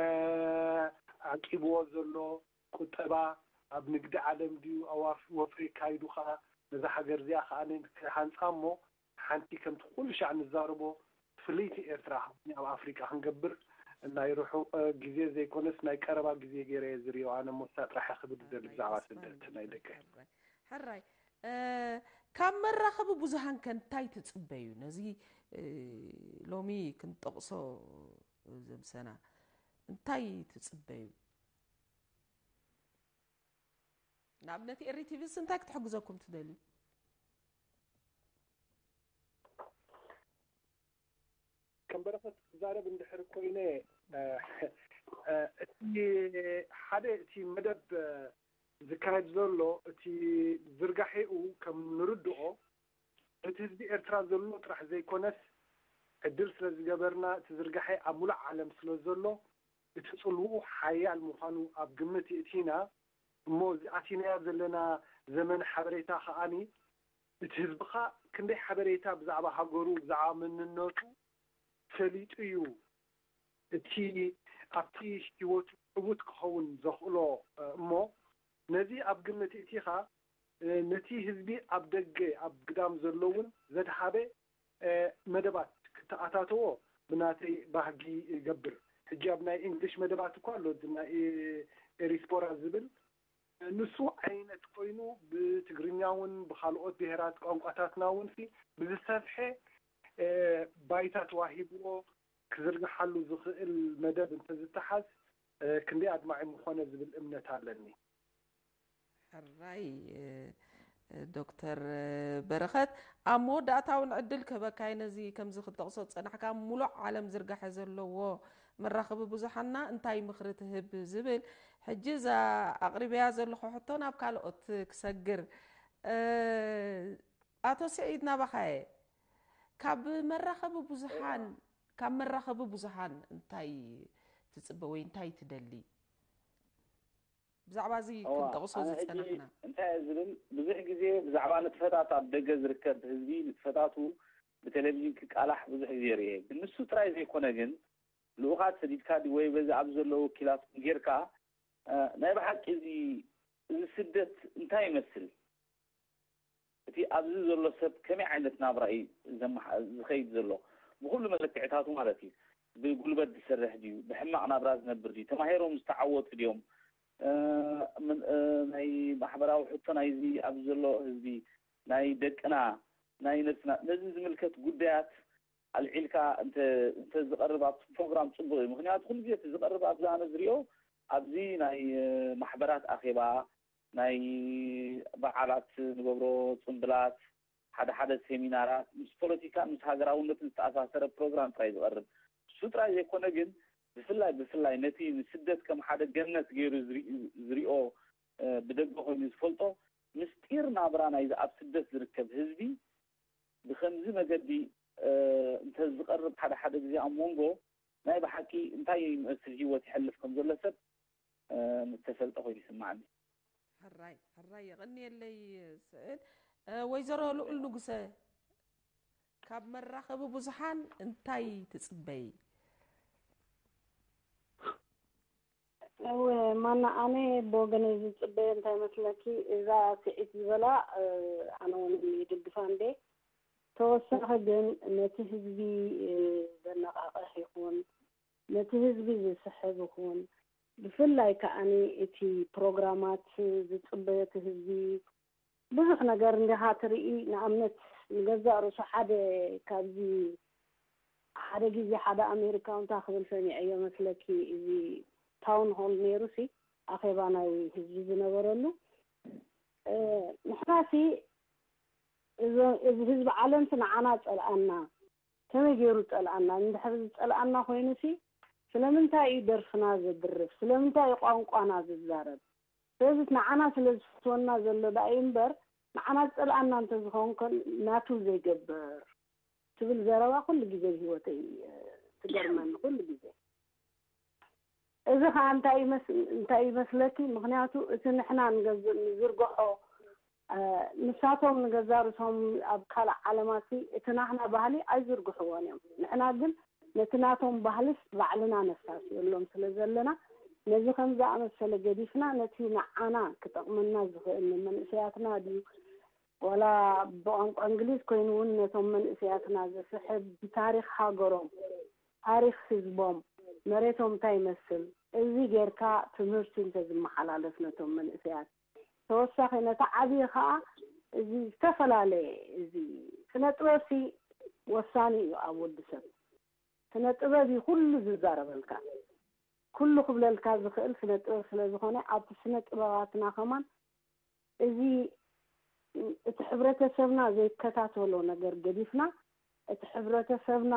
እ፣ ዓቂብዎ ዘሎ ቁጠባ ኣብ ንግዲ ዓለም ድዩ ኣብ ኣፍ-፣ ወፍሪ ካይዱ ኸኣ ነዛ ሃገር እዚኣ ኸኣ ክሃንጻ እሞ ሓንቲ ከምቲ ኩሉ ሻዕ ንዛረቦ ፍልይቲ ኤርትራ ኣብ ኣፍሪቃ ክንገብር ናይ ርሑቕ ግዜ ዘይኮነስ ናይ ቀረባ ግዜ ገይረ እየ ዝሪኦ። ኣነ ሞሳ ጥራሕ ክብል ዝደሊ ብዛዕባ ስደት ናይ ደቀ። ሕራይ፣ እ፣ ካብ መራኸቢ ብዙሃን ከ እንታይ ትጽበዩ? ነዚ፣ እ፣ ሎሚ ክንጠቕሶ ዘምሰና እንታይ ትጽበዩ? ንኣብነት ኤሪ ቲቪስ እንታይ ክትሕግዘኩም ትደልዩ? ከም በረኸት ክዛረብ እንድሕር ኮይነ፣ እ፣ እ፣ እቲ ሓደ እቲ መደብ፣ እ፣ ዝካየድ ዘሎ እቲ ዝርጋሐኡ ከም ንርድኦ እቲ ህዝቢ ኤርትራ ዘሎ ጥራሕ ዘይኮነስ ዕድል ስለ ዝገበርና እቲ ዝርጋሐ ኣብ ሙሉእ ዓለም ስለ ዘሎ እቲ ጽልውኡ ሓያል ምዃኑ ኣብ ግምት የእቲና። እሞ እዚ ኣቲናዮ ዘለና ዘመን ሓበሬታ ከኣኒ እቲ ህዝብኻ ክንደይ ሓበሬታ ብዛዕባ ሃገሩ ብዛዕባ መንነቱ ፈሊጡ እዩ እቲ ኣብቲ ህይወቱ ዕዉት ክኸውን ዘኽእሎ። እሞ ነዚ ኣብ ግምት እቲኻ ነቲ ህዝቢ ኣብ ደገ ኣብ ግዳም ዘሎ እውን ዘድሃበ መደባት ክተኣታተዎ ብናተይ ባህጊ ይገብር። ሕጂ ኣብ ናይ እንግሊሽ መደባት እኳ ኣሎ፣ እዚ ናይ ኤሪስፖራ ዝብል ንሱ ዓይነት ኮይኑ ብትግርኛ እውን ብካልኦት ብሄራት ቋንቋታትና እውን ሲ ብዝሰፍሐ ባይታ ተዋሂብዎ ክዝርግሓሉ ዝኽእል መደብ እንተዝተሓዝ ክንደይ ኣድማዒ ምኾነ ዝብል እምነት ኣለኒ። ሕራይ ዶክተር በረኸት፣ ኣብ መወዳእታ እውን ዕድል ክህበካ እየ። ነዚ ከምዚ ክትጠቕሶ ዝጸናሕካ ኣብ ሙሉእ ዓለም ዝርጋሐ ዘለዎ መራኸቢ ብዙሓንና እንታይ ምኽሪ ትህብ ዝብል፣ ሕጂ እዛ ኣቕሪበያ ዘለኹ ሕቶ ናብ ካልኦት ክሰግር። ኣቶ ስዒድ ናባኻ እየ። ካብ መራኸቢ ብዙሓን ካብ መራኸቢ ብዙሓን እንታይ ትጽበ ወይ እንታይ ትደሊ? ብዛዕባ እዚ እዋ ክንጠቕሶ ኣነ ሕጂ ዝጸናሕና እንታይ እየ ዝብል፣ ብዙሕ ግዜ ብዛዕባ ንጥፈታት ኣብ ደገ ዝርከብ ህዝቢ ንጥፈታቱ ብቴሌቪዥን ክቃላሕ ብዙሕ ግዜ ርእየ። ግን ንሱ ጥራይ ዘይኮነ ግን ልኡኻት ሰዲድካ ድዩ ወይ በዚ ኣብ ዘሎ ወኪላትኩም ጌርካ እ፣ ናይ ብሓቂ እዚ እዚ ስደት እንታይ ይመስል? እቲ ኣብዚ ዘሎ ሰብ ከመይ ዓይነት ናብራ እዩ ዘመሓ- ዝኸይድ ዘሎ? ብኹሉ መለክዕታቱ ማለት እዩ። ብጉልበት ዝሰርሕ ድዩ? ብሕማቕ ናብራ ዝነብር ድዩ? ተማሂሮም ዝተዓወቱ ድዮም? እ፣ ምን- እ፣ ናይ ማሕበራዊ ሕቶ ናይዚ ኣብዚ ዘሎ ህዝቢ፣ ናይ ደቅና፣ ናይ ነብስና፣ ነዚ ዝምልከት ጉዳያት ኣልዒልካ እንተ ዝቐርብ ኣብቲ ፕሮግራም ጽቡቕ እዩ። ምኽንያቱ ኩሉ ግዜ እቲ ዝቐርብ ኣብዚ ኣነ ዝሪኦ ኣብዚ ናይ ማሕበራት ኣኼባ፣ ናይ በዓላት ንገብሮ ጽምብላት፣ ሓደ ሓደ ሴሚናራት ምስ ፖለቲካን ምስ ሃገራውነትን ዝተኣሳሰረ ፕሮግራም ጥራይ ዝቐርብ። እሱ ጥራይ ዘይኮነ ግን ብፍላይ ብፍላይ ነቲ ንስደት ከም ሓደ ገነት ገይሩ ዝሪኦ ብደገ ኮይኑ ዝፈልጦ ምስጢር ናብራ ናይዚ ኣብ ስደት ዝርከብ ህዝቢ ብኸምዚ መገዲ እንተዝቐርብ ሓደ ሓደ ግዜ ኣብ መንጎ ናይ ብሓቂ እንታይ ይመስል ህይወት ይሐልፍ ከም ዘሎ ሰብ ምተፈልጠ ኮይኑ ይስማዓኒ። ሕራይ ሕራይ የቐንየለይ ስእል። ወይዘሮ ልኡል ንጉሰ ካብ መራኸቢ ብዙሓን እንታይ ትጽበይ? እወ ማና ኣነ ብወገነይ ዝጽበዮ እንታይ መስለኪ እዛ ስዒት ዝበላ ኣነ እውን ይድግፋ እንዴ ተወሳኺ ግን ነቲ ህዝቢ ዘነቓቕሕ ይኹን ነቲ ህዝቢ ዝስሕብ ይኹን ብፍላይ ከዓኒ እቲ ፕሮግራማት ዝጽበዮ እቲ ህዝቢ ብዙሕ ነገር እንዲኻ ትርኢ ንኣብነት ንገዛእ ርእሱ ሓደ ካብዚ ሓደ ግዜ ሓደ ኣሜሪካዊ እንታይ ክብል ሰሚዐዮ መስለኪ እዚ ታውን ሆል ነይሩ ሲ ኣኼባ ናይ ህዝቢ ዝነበረሉ ንሕና ሲ እዚ ህዝቢ ዓለም ሲ ንዓና ጸልኣና ከመይ ገይሩ ጸልኣና እንድሕር ዝጸልኣና ኮይኑ ሲ ስለምንታይ እዩ ደርፍና ዘድርፍ ስለምንታይ እዩ ቋንቋና ዝዛረብ ስለዚ ንዓና ስለ ዝፈትወና ዘሎ ደኣ እዩ እምበር ንዓና ዝጸልኣና እንተዝኸውን ከ ናቱ ዘይገብር ትብል ዘረባ ኩሉ ግዜ ብህይወተይ ትገርመኒ ኩሉ ግዜ እዚ ከዓ እንታይ ይመስ- እንታይ ይመስለኪ ምክንያቱ እቲ ንሕና ንገዝ- ንዝርግሖ እ፣ ንሳቶም ንገዛ ርእሶም ኣብ ካልእ ዓለማት እቲ ናህና ባህሊ ኣይዝርግሕዎን እዮም ንሕና ግን ነቲ ናቶም ባህልስ ባዕልና ነሳስየሎም ስለ ዘለና ነዚ ከም ዝኣመሰለ ገዲፍና ነቲ ንዓና ክጠቕመና ዝኽእል ንመንእሰያትና ድዩ ዋላ ብቋንቋ እንግሊዝ ኮይኑ እውን ነቶም መንእሰያትና ዝስሕብ ብታሪኽ ሃገሮም ታሪኽ ህዝቦም መሬቶም እንታይ ይመስል እዚ ጌርካ ትምህርቲ እንተዝመሓላለፍ ነቶም መንእሰያት ተወሳኺ ነቲ ዓብዪ ከዓ እዚ ዝተፈላለየ እዚ ስነ ጥበብሲ ወሳኒ እዩ ኣብ ወዲ ሰብ ስነ ጥበብ እዩ ኩሉ ዝዛረበልካ ኩሉ ክብለልካ ዝኽእል ስነ ጥበብ ስለ ዝኾነ ኣብቲ ስነ ጥበባትና ከማን እዚ እቲ ሕብረተሰብና ዘይከታተሎ ነገር ገዲፍና እቲ ሕብረተሰብና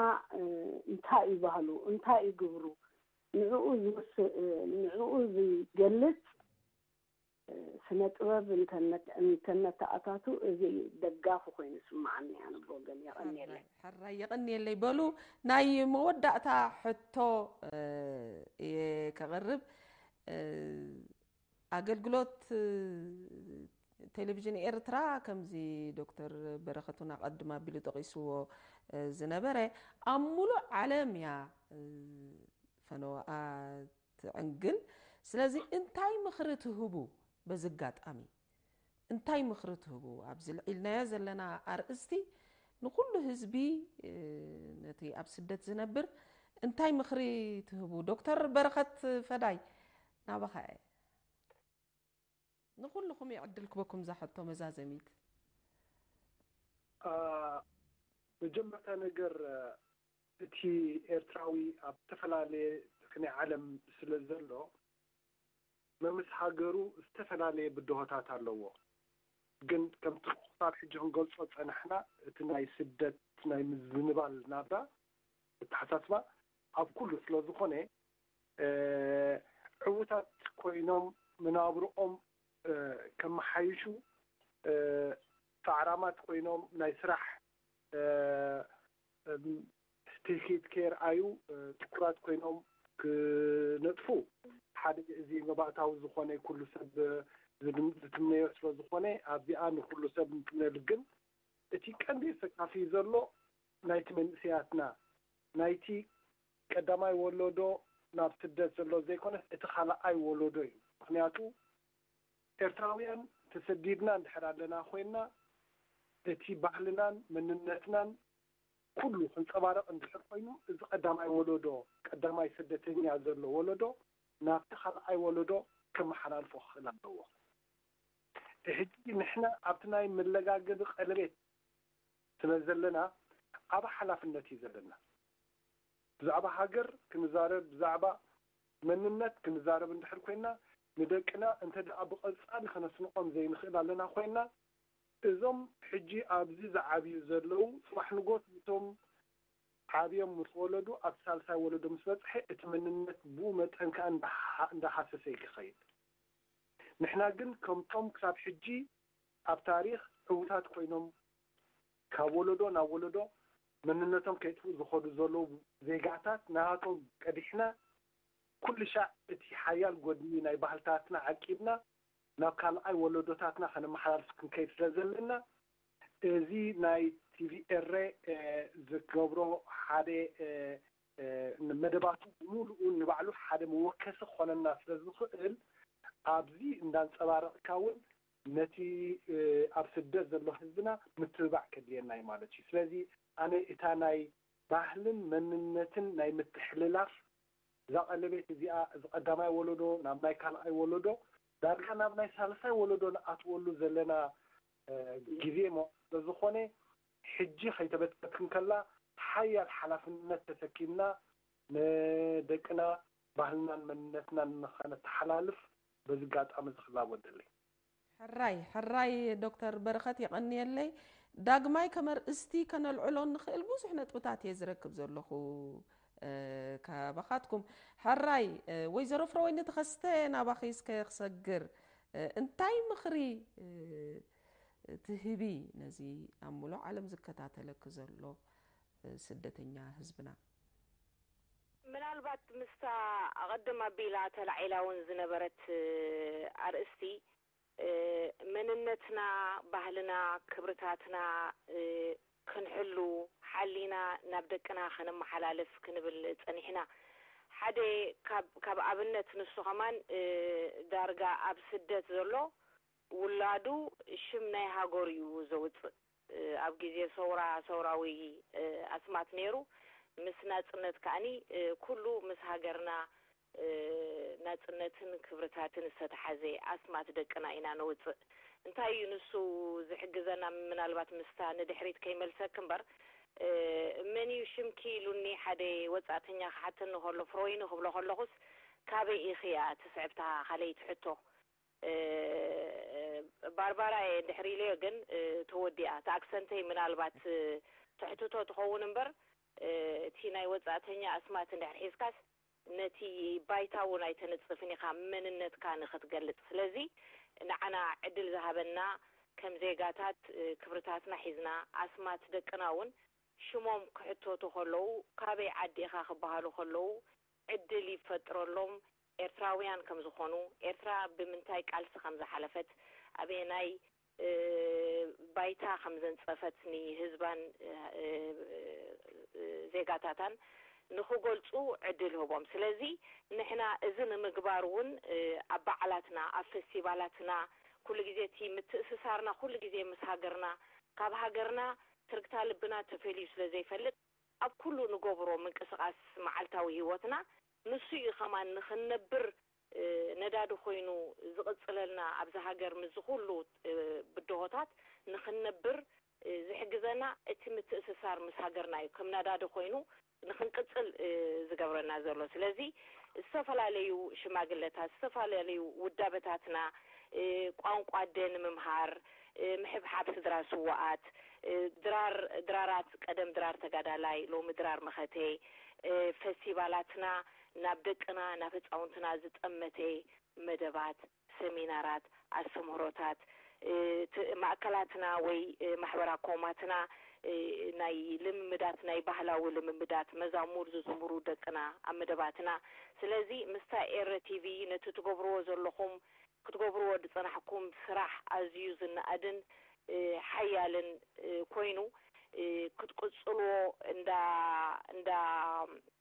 እንታይ እዩ ባህሉ እንታይ እዩ ግብሩ ንዕኡ ዝውስ ንዕኡ ዝገልጽ ስነ ጥበብ እንተነተኣታቱ እዚ ደጋፉ ኮይኑ ስምዓኒ ኣነ ብወገን የቐንየለይ። ሕራይ የቐንየለይ። በሉ ናይ መወዳእታ ሕቶ እየ ከቕርብ። ኣገልግሎት ቴሌቪዥን ኤርትራ ከምዚ ዶክተር በረኸት እውን ኣቐድም ኣቢሉ ጠቒስዎ ዝነበረ ኣብ ሙሉእ ዓለም እያ ፈነወኣ ትዕንግል። ስለዚ እንታይ ምኽሪ ትህቡ በዚ ኣጋጣሚ እንታይ ምኽሪ ትህቡ ኣብዚ ልዒልናዮ ዘለና ኣርእስቲ ንኹሉ ህዝቢ ነቲ ኣብ ስደት ዝነብር እንታይ ምኽሪ ትህቡ ዶክተር በረኸት ፈዳይ ናባኻ እየ ንኹልኹም እየ ዕድል ክበኩም እዛ ሕቶ መዛዘሚት መጀመርታ ነገር እቲ ኤርትራዊ ኣብ ዝተፈላለየ ክንይ ዓለም ስለ ዘሎ መምስ ሃገሩ ዝተፈላለየ ብድሆታት ኣለዎ። ግን ከምቲ ክሳብ ሕጂ ክንገልጾ ዝጸናሕና እቲ ናይ ስደት ናይ ምዝንባል ናብራ ኣተሓሳስባ ኣብ ኩሉ ስለ ዝኾነ ዕዉታት ኮይኖም መናብርኦም ከመሓይሹ ጻዕራማት ኮይኖም ናይ ስራሕ ስቴት ከየርኣዩ ትኩራት ኮይኖም ክነጥፉ ሓደ እዚ መባእታዊ ዝኾነ ኩሉ ሰብ ዝትምነዮ ስለ ዝኾነ ኣብዚኣ ንኩሉ ሰብ ንትምነሉ ግን እቲ ቀንዲ ዘሰካፊ ዘሎ ናይቲ መንእሰያትና ናይቲ ቀዳማይ ወለዶ ናብ ስደት ዘሎ ዘይኮነስ እቲ ካልኣይ ወለዶ እዩ። ምክንያቱ ኤርትራውያን ተሰዲድና እንድሕር ኣለና ኮይንና እቲ ባህልናን መንነትናን ኩሉ ክንጸባረቕ እንድሕር ኮይኑ እዚ ቀዳማይ ወለዶ ቀዳማይ ስደተኛ ዘሎ ወለዶ ናብቲ ካልኣይ ወለዶ ከመሓላልፎ ክኽእል ኣለዎ። ሕጂ ንሕና ኣብቲ ናይ መለጋገቢ ቀለቤት ስለ ዘለና ዓቢ ሓላፍነት እዩ ዘለና። ብዛዕባ ሃገር ክንዛረብ፣ ብዛዕባ መንነት ክንዛረብ እንድሕር ኮይና፣ ንደቅና እንተ ደኣ ብቐጻሊ ከነስንቖም ዘይንኽእል ኣለና ኮይና፣ እዞም ሕጂ ኣብዚ ዝዓብዩ ዘለዉ፣ ጽባሕ ንጎት እቶም ዓብዮም ምስ ወለዱ፣ ኣብ ሳልሳይ ወለዶ ምስ በጽሐ፣ እቲ መንነት ብኡ መጠን ከኣ እንዳሃ-፣ እንዳሃሰሰ እዩ ክኸይድ። ንሕና ግን ከምቶም ክሳብ ሕጂ ኣብ ታሪኽ ዕዉታት ኮይኖም ካብ ወለዶ ናብ ወለዶ መንነቶም ከይጥፍኡ ዝኸዱ ዘለዉ ዜጋታት፣ ናቶም ቀዲሕና፣ ኩሉ ሻዕ እቲ ሓያል ጎድኒ ናይ ባህልታትና ዓቂብና፣ ናብ ካልኣይ ወለዶታትና ከነመሓላልፍ ክንከይድ ስለ ዘለና፣ እዚ ናይ ቲቪ ኤረ፣ እ፣ ዝገብሮ ሓደ፣ እ፣ እ፣ መደባቱ ብምሉኡ ንባዕሉ ሓደ መወከሲ ክኾነና ስለ ዝኽእል፣ ኣብዚ እንዳንጸባረቕካ እውን ነቲ፣ እ፣ ኣብ ስደት ዘሎ ህዝብና ምትብባዕ ከድልየና እዩ ማለት እዩ። ስለዚ ኣነ እታ ናይ ባህልን መንነትን ናይ ምትሕልላፍ እዛ ቀለቤት እዚኣ፣ እዚ ቀዳማይ ወለዶ ናብ ናይ ካልኣይ ወለዶ፣ ዳርጋ ናብ ናይ ሳልሳይ ወለዶ ንኣትወሉ ዘለና፣ እ፣ ግዜ ሞ-፣ ስለ ዝኾነ፣ ሕጂ ከይተበትከት እንከላ፣ ሓያል ሓላፍነት ተሰኪምና ንደቅና፣ ባህልናን መንነትናን ንኸነተሓላልፍ በዚ ኣጋጣሚ እዚ ክላቦ እደሊ። ሕራይ፣ ሕራይ ዶክተር በረኸት የቐንየለይ። ዳግማይ ከም ኣርእስቲ ከነልዕሎ ንኽእል ብዙሕ ነጥብታት እየ ዝረክብ ዘለኹ፣ እ፣ ካባኻትኩም። ሕራይ፣ እ፣ ወይዘሮ ፍረወይኒ ተኸስተ ናባኺ እስከ ክሰግር፣ እ፣ እንታይ ምኽሪ፣ እ፣ ትህቢ ነዚ ኣብ ሙሉእ ዓለም ዝከታተለኪ ዘሎ፣ እ፣ ስደተኛ ህዝብና? ምናልባት ምስታ ኣቐድም ኣቢላ ተላዒላ እውን ዝነበረት፣ እ፣ ኣርእስቲ፣ እ፣ መንነትና፣ ባህልና፣ ክብርታትና፣ እ፣ ክንሕሉ፣ ሓሊና ናብ ደቅና ከነመሓላልፍ ክንብል ጸኒሕና። ሓደ ካብ፣ ካብ ኣብነት ንሱ ከማን፣ እ፣ ዳርጋ ኣብ ስደት ዘሎ ውላዱ ሽም ናይ ሃገሩ እዩ ዘውጽእ። እ፣ ኣብ ግዜ ሰውራ፣ ሰውራዊ፣ እ፣ ኣስማት ነይሩ። ምስ ናጽነት ከኣኒ፣ እ፣ ኩሉ ምስ ሃገርና፣ እ፣ ናጽነትን ክብርታትን ዝተተሓዘ ኣስማት ደቅና ኢና ነውጽእ። እንታይ እዩ ንሱ ዝሕግዘና? ምናልባት ምስታ ንድሕሪት ከይመልሰክ እምበር፣ እ፣ መን እዩ ሽምኪ ኢሉኒ ሓደ ወጻእተኛ ክሓተኒ ከሎ፣ ፍሮይኒ ክብሎ ከለኹስ፣ ካበይ ኢኺ እያ ትስዕብታ? ካልኣይቲ ሕቶ። እ፣ ባርባራ እየ እንድሕር ኢለዮ ግን፣ እ፣ ተወዲኣ። እቲ ኣክሰንተይ ምናልባት፣ እ፣ ተሕትቶ ትኸውን እምበር፣ እ፣ እቲ ናይ ወጻእተኛ ኣስማት እንድሕር ሒዝካስ፣ ነቲ ባይታ እውን ኣይተነጽፍን ኢኻ፣ መንነትካ ንኽትገልጽ። ስለዚ ንዓና ዕድል ዝሃበና ከም ዜጋታት፣ እ፣ ክብርታትና ሒዝና፣ ኣስማት ደቅና እውን ሽሞም ክሕተቱ ከለዉ፣ ካበይ ዓዲ ኢኻ ክበሃሉ ከለዉ፣ ዕድል ይፈጥረሎም፣ ኤርትራውያን ከም ዝኾኑ፣ ኤርትራ ብምንታይ ቃልሲ ከም ዝሓለፈት፣ ኣበየናይ፣ እ፣ ባይታ ከም ዘንጸፈት ንህዝባን፣ እ፣ እ፣ ዜጋታታን ንኽገልጹ ዕድል ህቦም። ስለዚ ንሕና እዚ ንምግባር እውን፣ እ፣ ኣብ በዓላትና፣ ኣብ ፈስቲቫላትና፣ ኩሉ ግዜ እቲ ምትእስሳርና ኩሉ ግዜ ምስ ሃገርና፣ ካብ ሃገርና ትርግታ ልብና ተፈልዩ ስለ ዘይፈልጥ፣ ኣብ ኩሉ ንገብሮ ምንቅስቓስ መዓልታዊ ህይወትና፣ ንሱ እዩ ከማን ንኽንነብር፣ እ፣ ነዳዲ ኮይኑ ዝቕጽለልና፣ ኣብዚ ሃገር ምስዚ ኩሉ፣ እ፣ ብድሆታት ንኽንነብር፣ እ፣ ዝሕግዘና እቲ ምትእስሳር ምስ ሃገርና እዩ። ከም ነዳዲ ኮይኑ ንኽንቅጽል፣ እ፣ ዝገብረና ዘሎ። ስለዚ ዝተፈላለዩ ሽማግለታት፣ ዝተፈላለዩ ውዳበታትና፣ እ፣ ቋንቋ ኣደ ንምምሃር፣ እ፣ ምሕብሓብ ስድራ ስዉኣት፣ እ፣ ድራር፣ ድራራት፣ ቀደም ድራር ተጋዳላይ፣ ሎሚ ድራር መኸተ፣ እ፣ ፈስቲቫላትና ናብ ደቅና፣ ናብ ህጻውንትና ዝጠመተ መደባት፣ ሰሚናራት፣ ኣስተምህሮታት፣ እ፣ ት-፣ ማእከላትና ወይ፣ እ፣ ማሕበራ ኮማትና፣ እ፣ ናይ ልምምዳት፣ ናይ ባህላዊ ልምምዳት፣ መዛሙር ዝዝምሩ ደቅና ኣብ መደባትና። ስለዚ ምስታ ኤረ ቲቪ ነቲ ትገብርዎ ዘለኹም፣ ክትገብርዎ ዝጸናሕኩም ስራሕ ኣዝዩ ዝነኣድን፣ እ፣ ሓያልን፣ እ፣ ኮይኑ፣ እ፣ ክትቅጽልዎ እንዳ፣ እንዳ፣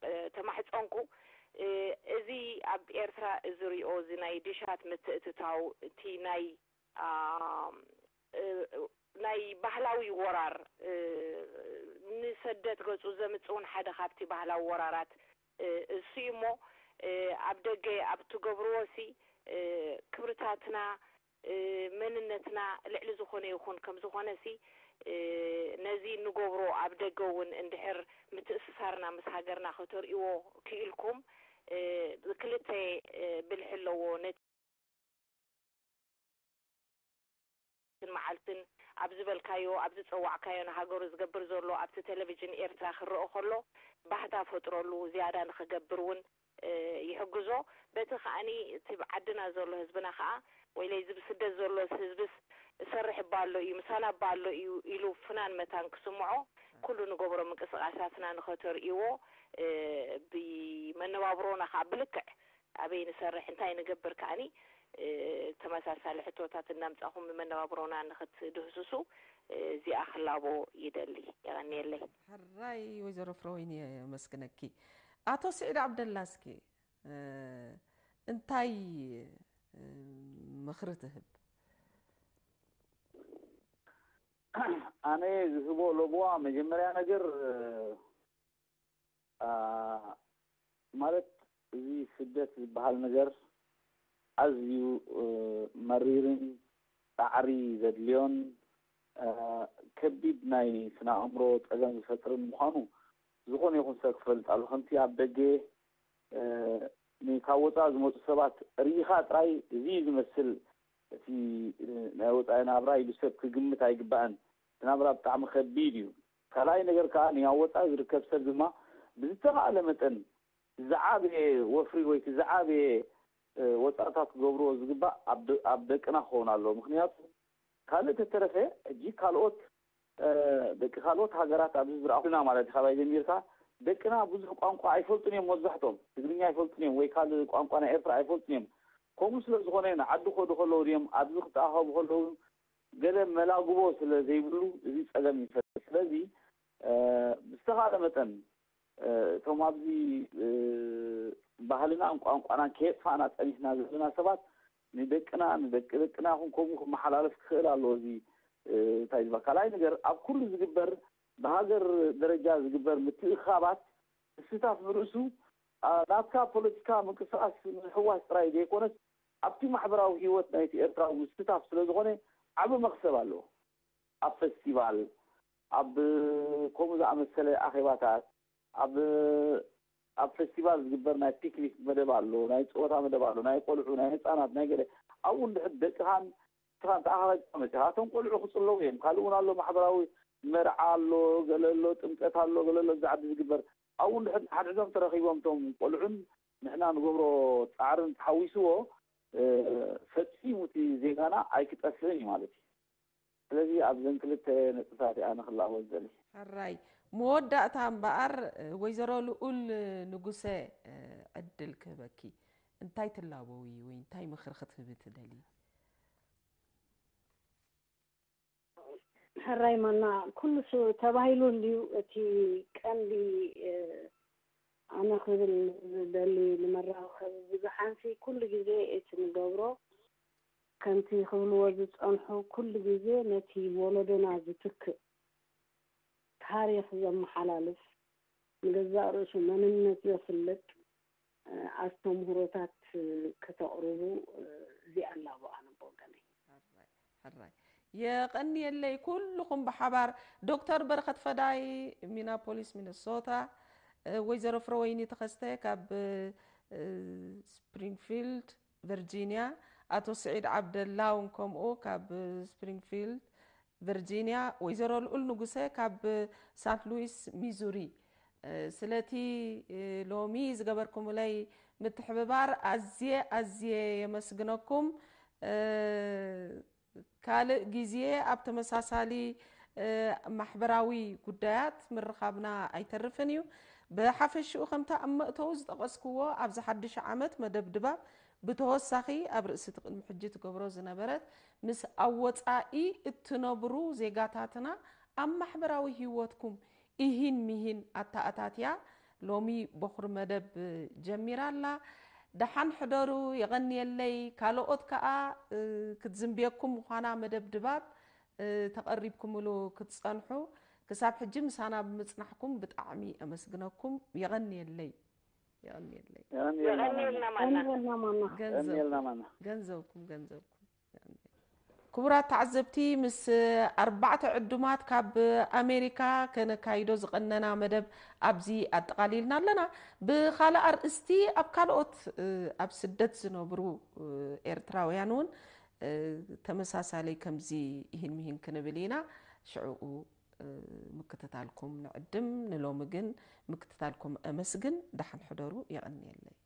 እ፣ ተማሕጸንኩ፣ እ፣ እዚ ኣብ ኤርትራ እዚ ሪኦ፣ እዚ ናይ ድሻት ምትእትታው፣ እቲ ናይ፣ አ፣ እ፣ ናይ ባህላዊ ወራር፣ እ፣ ንሰደት ገጹ ዘምጽእ እውን ሓደ ካብቲ ባህላዊ ወራራት፣ እ፣ እሱ እዩ እሞ፣ እ፣ ኣብ ደገ ኣብ ትገብርዎ ሲ፣ እ፣ ክብርታትና፣ እ፣ መንነትና ልዕሊ ዝኾነ ይኹን። ከም ዝኾነ ሲ፣ እ፣ ነዚ እንገብሮ ኣብ ደገ እውን እንድሕር ምትእስሳርና ምስ ሃገርና ከተርእይዎ ክኢልኩም፣ እ፣ ክልተ፣ እ፣ ብልሒ ኣለዎ። ነቲ መዓልትን ኣብ ዝበልካዮ፣ ኣብ ዝጸዋዕካዮ ንሃገሩ ዝገብር ዘሎ ኣብቲ ቴሌቪዥን ኤርትራ ክረኦ ከሎ፣ ባህታ ፈጥረሉ፣ ዝያዳ ንኽገብር እውን፣ እ፣ ይሕግዞ። በቲ ከኣኒ እቲ ብዓድና ዘሎ ህዝብና ከኣ፣ ወይለይ እዚ ብስደት ዘሎ ህዝብስ እሰርሕ እባ ኣሎ እዩ፣ ምሳና እባ ኣሎ እዩ ኢሉ ፍናን መታን ክስምዖ፣ ኩሉ ንገብሮ ምንቅስቓሳትና ንኸተርእይዎ፣ እ፣ ብመነባብሮና ከኣ ብልክዕ ኣበይ ንሰርሕ፣ እንታይ ንገብር ከኣኒ፣ እ፣ ተመሳሳሊ ሕቶታት እናምጻኹም ብመነባብሮና ንኽትድህስሱ፣ እ፣ እዚኣ ክላቦ ይደሊ። የቐንየለይ። ሕራይ ወይዘሮ ፍረወይኒ የመስግነኪ። ኣቶ ስዒድ ዓብደላ እስኪ፣ እ፣ እንታይ፣ እ፣ ምኽሪ ትህብ? ኣነ ዝህቦ ለብዋ መጀመርያ ነገር፣ እ፣ ኣ፣ ማለት እዚ ስደት ዝበሃል ነገር ኣዝዩ፣ እ፣ መሪርን ጻዕሪ ዘድልዮን፣ እ፣ ከቢድ ናይ ስነ ኣእምሮ ጸገም ዝፈጥርን ምዃኑ ዝኾነ ይኹን ሰብ ክፈልጥ ኣለዎ። ከምቲ ኣብ ደገ፣ እ፣ ን-፣ ካብ ወጻኢ ዝመጹ ሰባት ርኢኻ ጥራይ እዚ እዩ ዝመስል እቲ፣ እ፣ ናይ ወጻኢ ናብራ ኢሉ ሰብ ክግምት ኣይግባእን። እቲ ናብራ ብጣዕሚ ከቢድ እዩ። ካልኣይ ነገር ከኣ፣ ኣብ ወጻኢ ዝርከብ ሰብ ድማ ብዝተኻእለ መጠን ዝዓበየ ወፍሪ ወይ እቲ ዝዓበየ፣ እ፣ ወጻእታት ክገብርዎ ዝግባእ ኣብ ደ-፣ ኣብ ደቅና ክኸውን ኣለዎ። ምኽንያቱ ካልእ ተተረፈ፣ ሕጂ ካልኦት፣ እ፣ ደቂ ካልኦት ሃገራት ኣብዚ ዝረኣኹና ማለት እዩ፣ ካባይ ጀሚርካ፣ ደቅና ብዙሕ ቋንቋ ኣይፈልጡን እዮም መብዛሕትኦም። ትግርኛ ኣይፈልጡን እዮም ወይ ካልእ ቋንቋ ናይ ኤርትራ ኣይፈልጡን እዮም። ከምኡ ስለ ዝኾነ ንዓዲ ክኸዱ ከለዉ ድዮም ኣብዚ ክተኣኸቡ ከለዉ ገለ መላግቦ ስለ ዘይብሉ እዚ ጸገም ይፈጥር። ስለዚ፣ እ፣ ብዝተኻእለ መጠን፣ እ፣ እቶም ኣብዚ፣ እ፣ ባህልናን ቋንቋናን ከየጥፋእና ጸኒሕና ዘለና ሰባት ንደቅና፣ ንደቂ ደቅና ይኹን ከምኡ ክመሓላለፍ ክኽእል ኣለዎ። እዚ፣ እ፣ እንታይ ዝበሃል ካልኣይ ነገር ኣብ ኩሉ ዝግበር ብሃገር ደረጃ ዝግበር ምትእኽኻባት ምስታፍ ንርእሱ፣ ኣ፣ ናትካ ፖለቲካ ምንቅስቓስ ምሕዋስ ጥራይ ዘይኮነስ ኣብቲ ማሕበራዊ ህይወት ናይቲ ኤርትራዊ ምስታፍ ስለ ዝኾነ ዓቢ መኽሰብ ኣለዎ። ኣብ ፈስቲቫል፣ ኣብ ከምኡ ዝኣመሰለ ኣኼባታት፣ ኣብ፣ ኣብ ፈስቲቫል ዝግበር ናይ ፒክኒክ መደብ ኣሎ፣ ናይ ጸወታ መደብ ኣሎ፣ ናይ ቆልዑ፣ ናይ ህጻናት፣ ናይ ገለ። ኣብኡ እንድሕር ደቅኻን ንስኻን ተኣኻኺብካ መጺኻ፣ እቶም ቆልዑ ክጽለዉ እዮም። ካልእ እውን ኣሎ፣ ማሕበራዊ መርዓ ኣሎ፣ ገለ ኣሎ፣ ጥምቀት ኣሎ፣ ገለ ኣሎ፣ ኣብዚ ዓዲ ዝግበር። ኣብኡ እንድሕር ሓድሕዶም ተረኺቦም እቶም ቆልዑን ንሕና ንገብሮ ጻዕርን ተሓዊስዎ፣ እ፣ ፈጺሙ እቲ ዜጋና ኣይክጠፍእን እዩ ማለት እዩ። ስለዚ ኣብዘን ክልተ ነጥብታት እየ ኣነ ክላቦ ዝደሊ። ሕራይ። መወዳእታ እምበኣር፣ ወይዘሮ ልኡል ንጉሰ፣ ዕድል ክህበኪ። እንታይ ትላበዊ ወይ እንታይ ምኽሪ ክትህቢ ትደሊ? ሕራይ ማና፣ ኩሉ ሱ-፣ ተባሂሉ እንድዩ። እቲ ቀንዲ፣ እ፣ ኣነ ክብል ዝደሊ ንመራኸቢ ብዙሓንሲ ኩሉ ግዜ እቲ ንገብሮ ከምቲ ክብልዎ ዝጸንሑ ኩሉ ግዜ ነቲ ወለዶና ዝትክእ ታሪኽ ዘመሓላልፍ፣ ንገዛእ ርእሱ መንነት ዘፍልጥ፣ እ፣ ኣስተምህሮታት፣ እ፣ ከተቕርቡ፣ እ፣ እዚኣ ኣላቦ ኣነ ብወገነይ። ሕራይ፣ ሕራይ። የቐንየለይ ኩልኹም ብሓባር። ዶክተር በረኸት ፈዳይ፣ ሚናፖሊስ፣ ሚነሶታ፣ እ፣ ወይዘሮ ፍረወይኒ ተኸስተ ካብ፣ እ፣ ስፕሪንግፊልድ፣ ቨርጂንያ፣ ኣቶ ስዒድ ዓብደላ እውን ከምኡ ካብ ስፕሪንግፊልድ፣ ቨርጂንያ፣ ወይዘሮ ልኡል ንጉሰ ካብ ሳንት ሉዊስ፣ ሚዙሪ። እ፣ ስለቲ፣ እ፣ ሎሚ ዝገበርኩምለይ ምትሕብባር ኣዝየ፣ ኣዝየ የመስግነኩም። እ፣ ካልእ ግዜ ኣብ ተመሳሳሊ፣ እ፣ ማሕበራዊ ጉዳያት ምርኻብና ኣይተርፍን እዩ። ብሓፈሽኡ ከምቲ ኣብ መእተዊ ዝጠቐስክዎ፣ ኣብዚ ሓድሽ ዓመት መደብ ድባብ ብተወሳኺ ኣብ ርእሲ እቲ ቅድሚ ሕጂ ትገብሮ ዝነበረት ምስ ኣብ ወጻኢ እትነብሩ ዜጋታትና ኣብ ማሕበራዊ ህይወትኩም ኢሂን ሚሂን ኣተኣታትያ ሎሚ በኹሪ መደብ ጀሚራ ኣላ። ደሓን ሕደሩ፣ የቐንየለይ። ካልኦት ከኣ፣ እ፣ ክትዝንብየኩም ምዃና መደብ ድባብ፣ እ፣ ተቐሪብኩምሉ ክትጸንሑ፣ ክሳብ ሕጂ ምሳና ብምጽናሕኩም ብጣዕሚ ኣመስግነኩም። የቐንየለይ። የቐንየለይ። የቐንየለይ። የቐንየልና ማና። የቐንየልና ማና። ገንዘብኩም፣ የቐንየልና ማና። ገንዘብኩም፣ ገንዘብኩም። የቐንየለይ። ክቡራት ተዓዘብቲ፣ ምስ ኣርባዕተ ዕዱማት ካብ ኣሜሪካ ከነካይዶ ዝቐነና መደብ ኣብዚ ኣጠቓሊልና ኣለና። ብኻልእ ኣርእስቲ፣ ኣብ ካልኦት ኣብ ስደት ዝነብሩ ኤርትራውያን እውን ተመሳሳሊ ከምዚ ይህን ምሂን ክንብል ኢና። ሽዕኡ ምክትታልኩም ንዕድም። ንሎሚ ግን ምክትታልኩም ኣመስግን። ደሓን ሕደሩ። የቐንየለይ።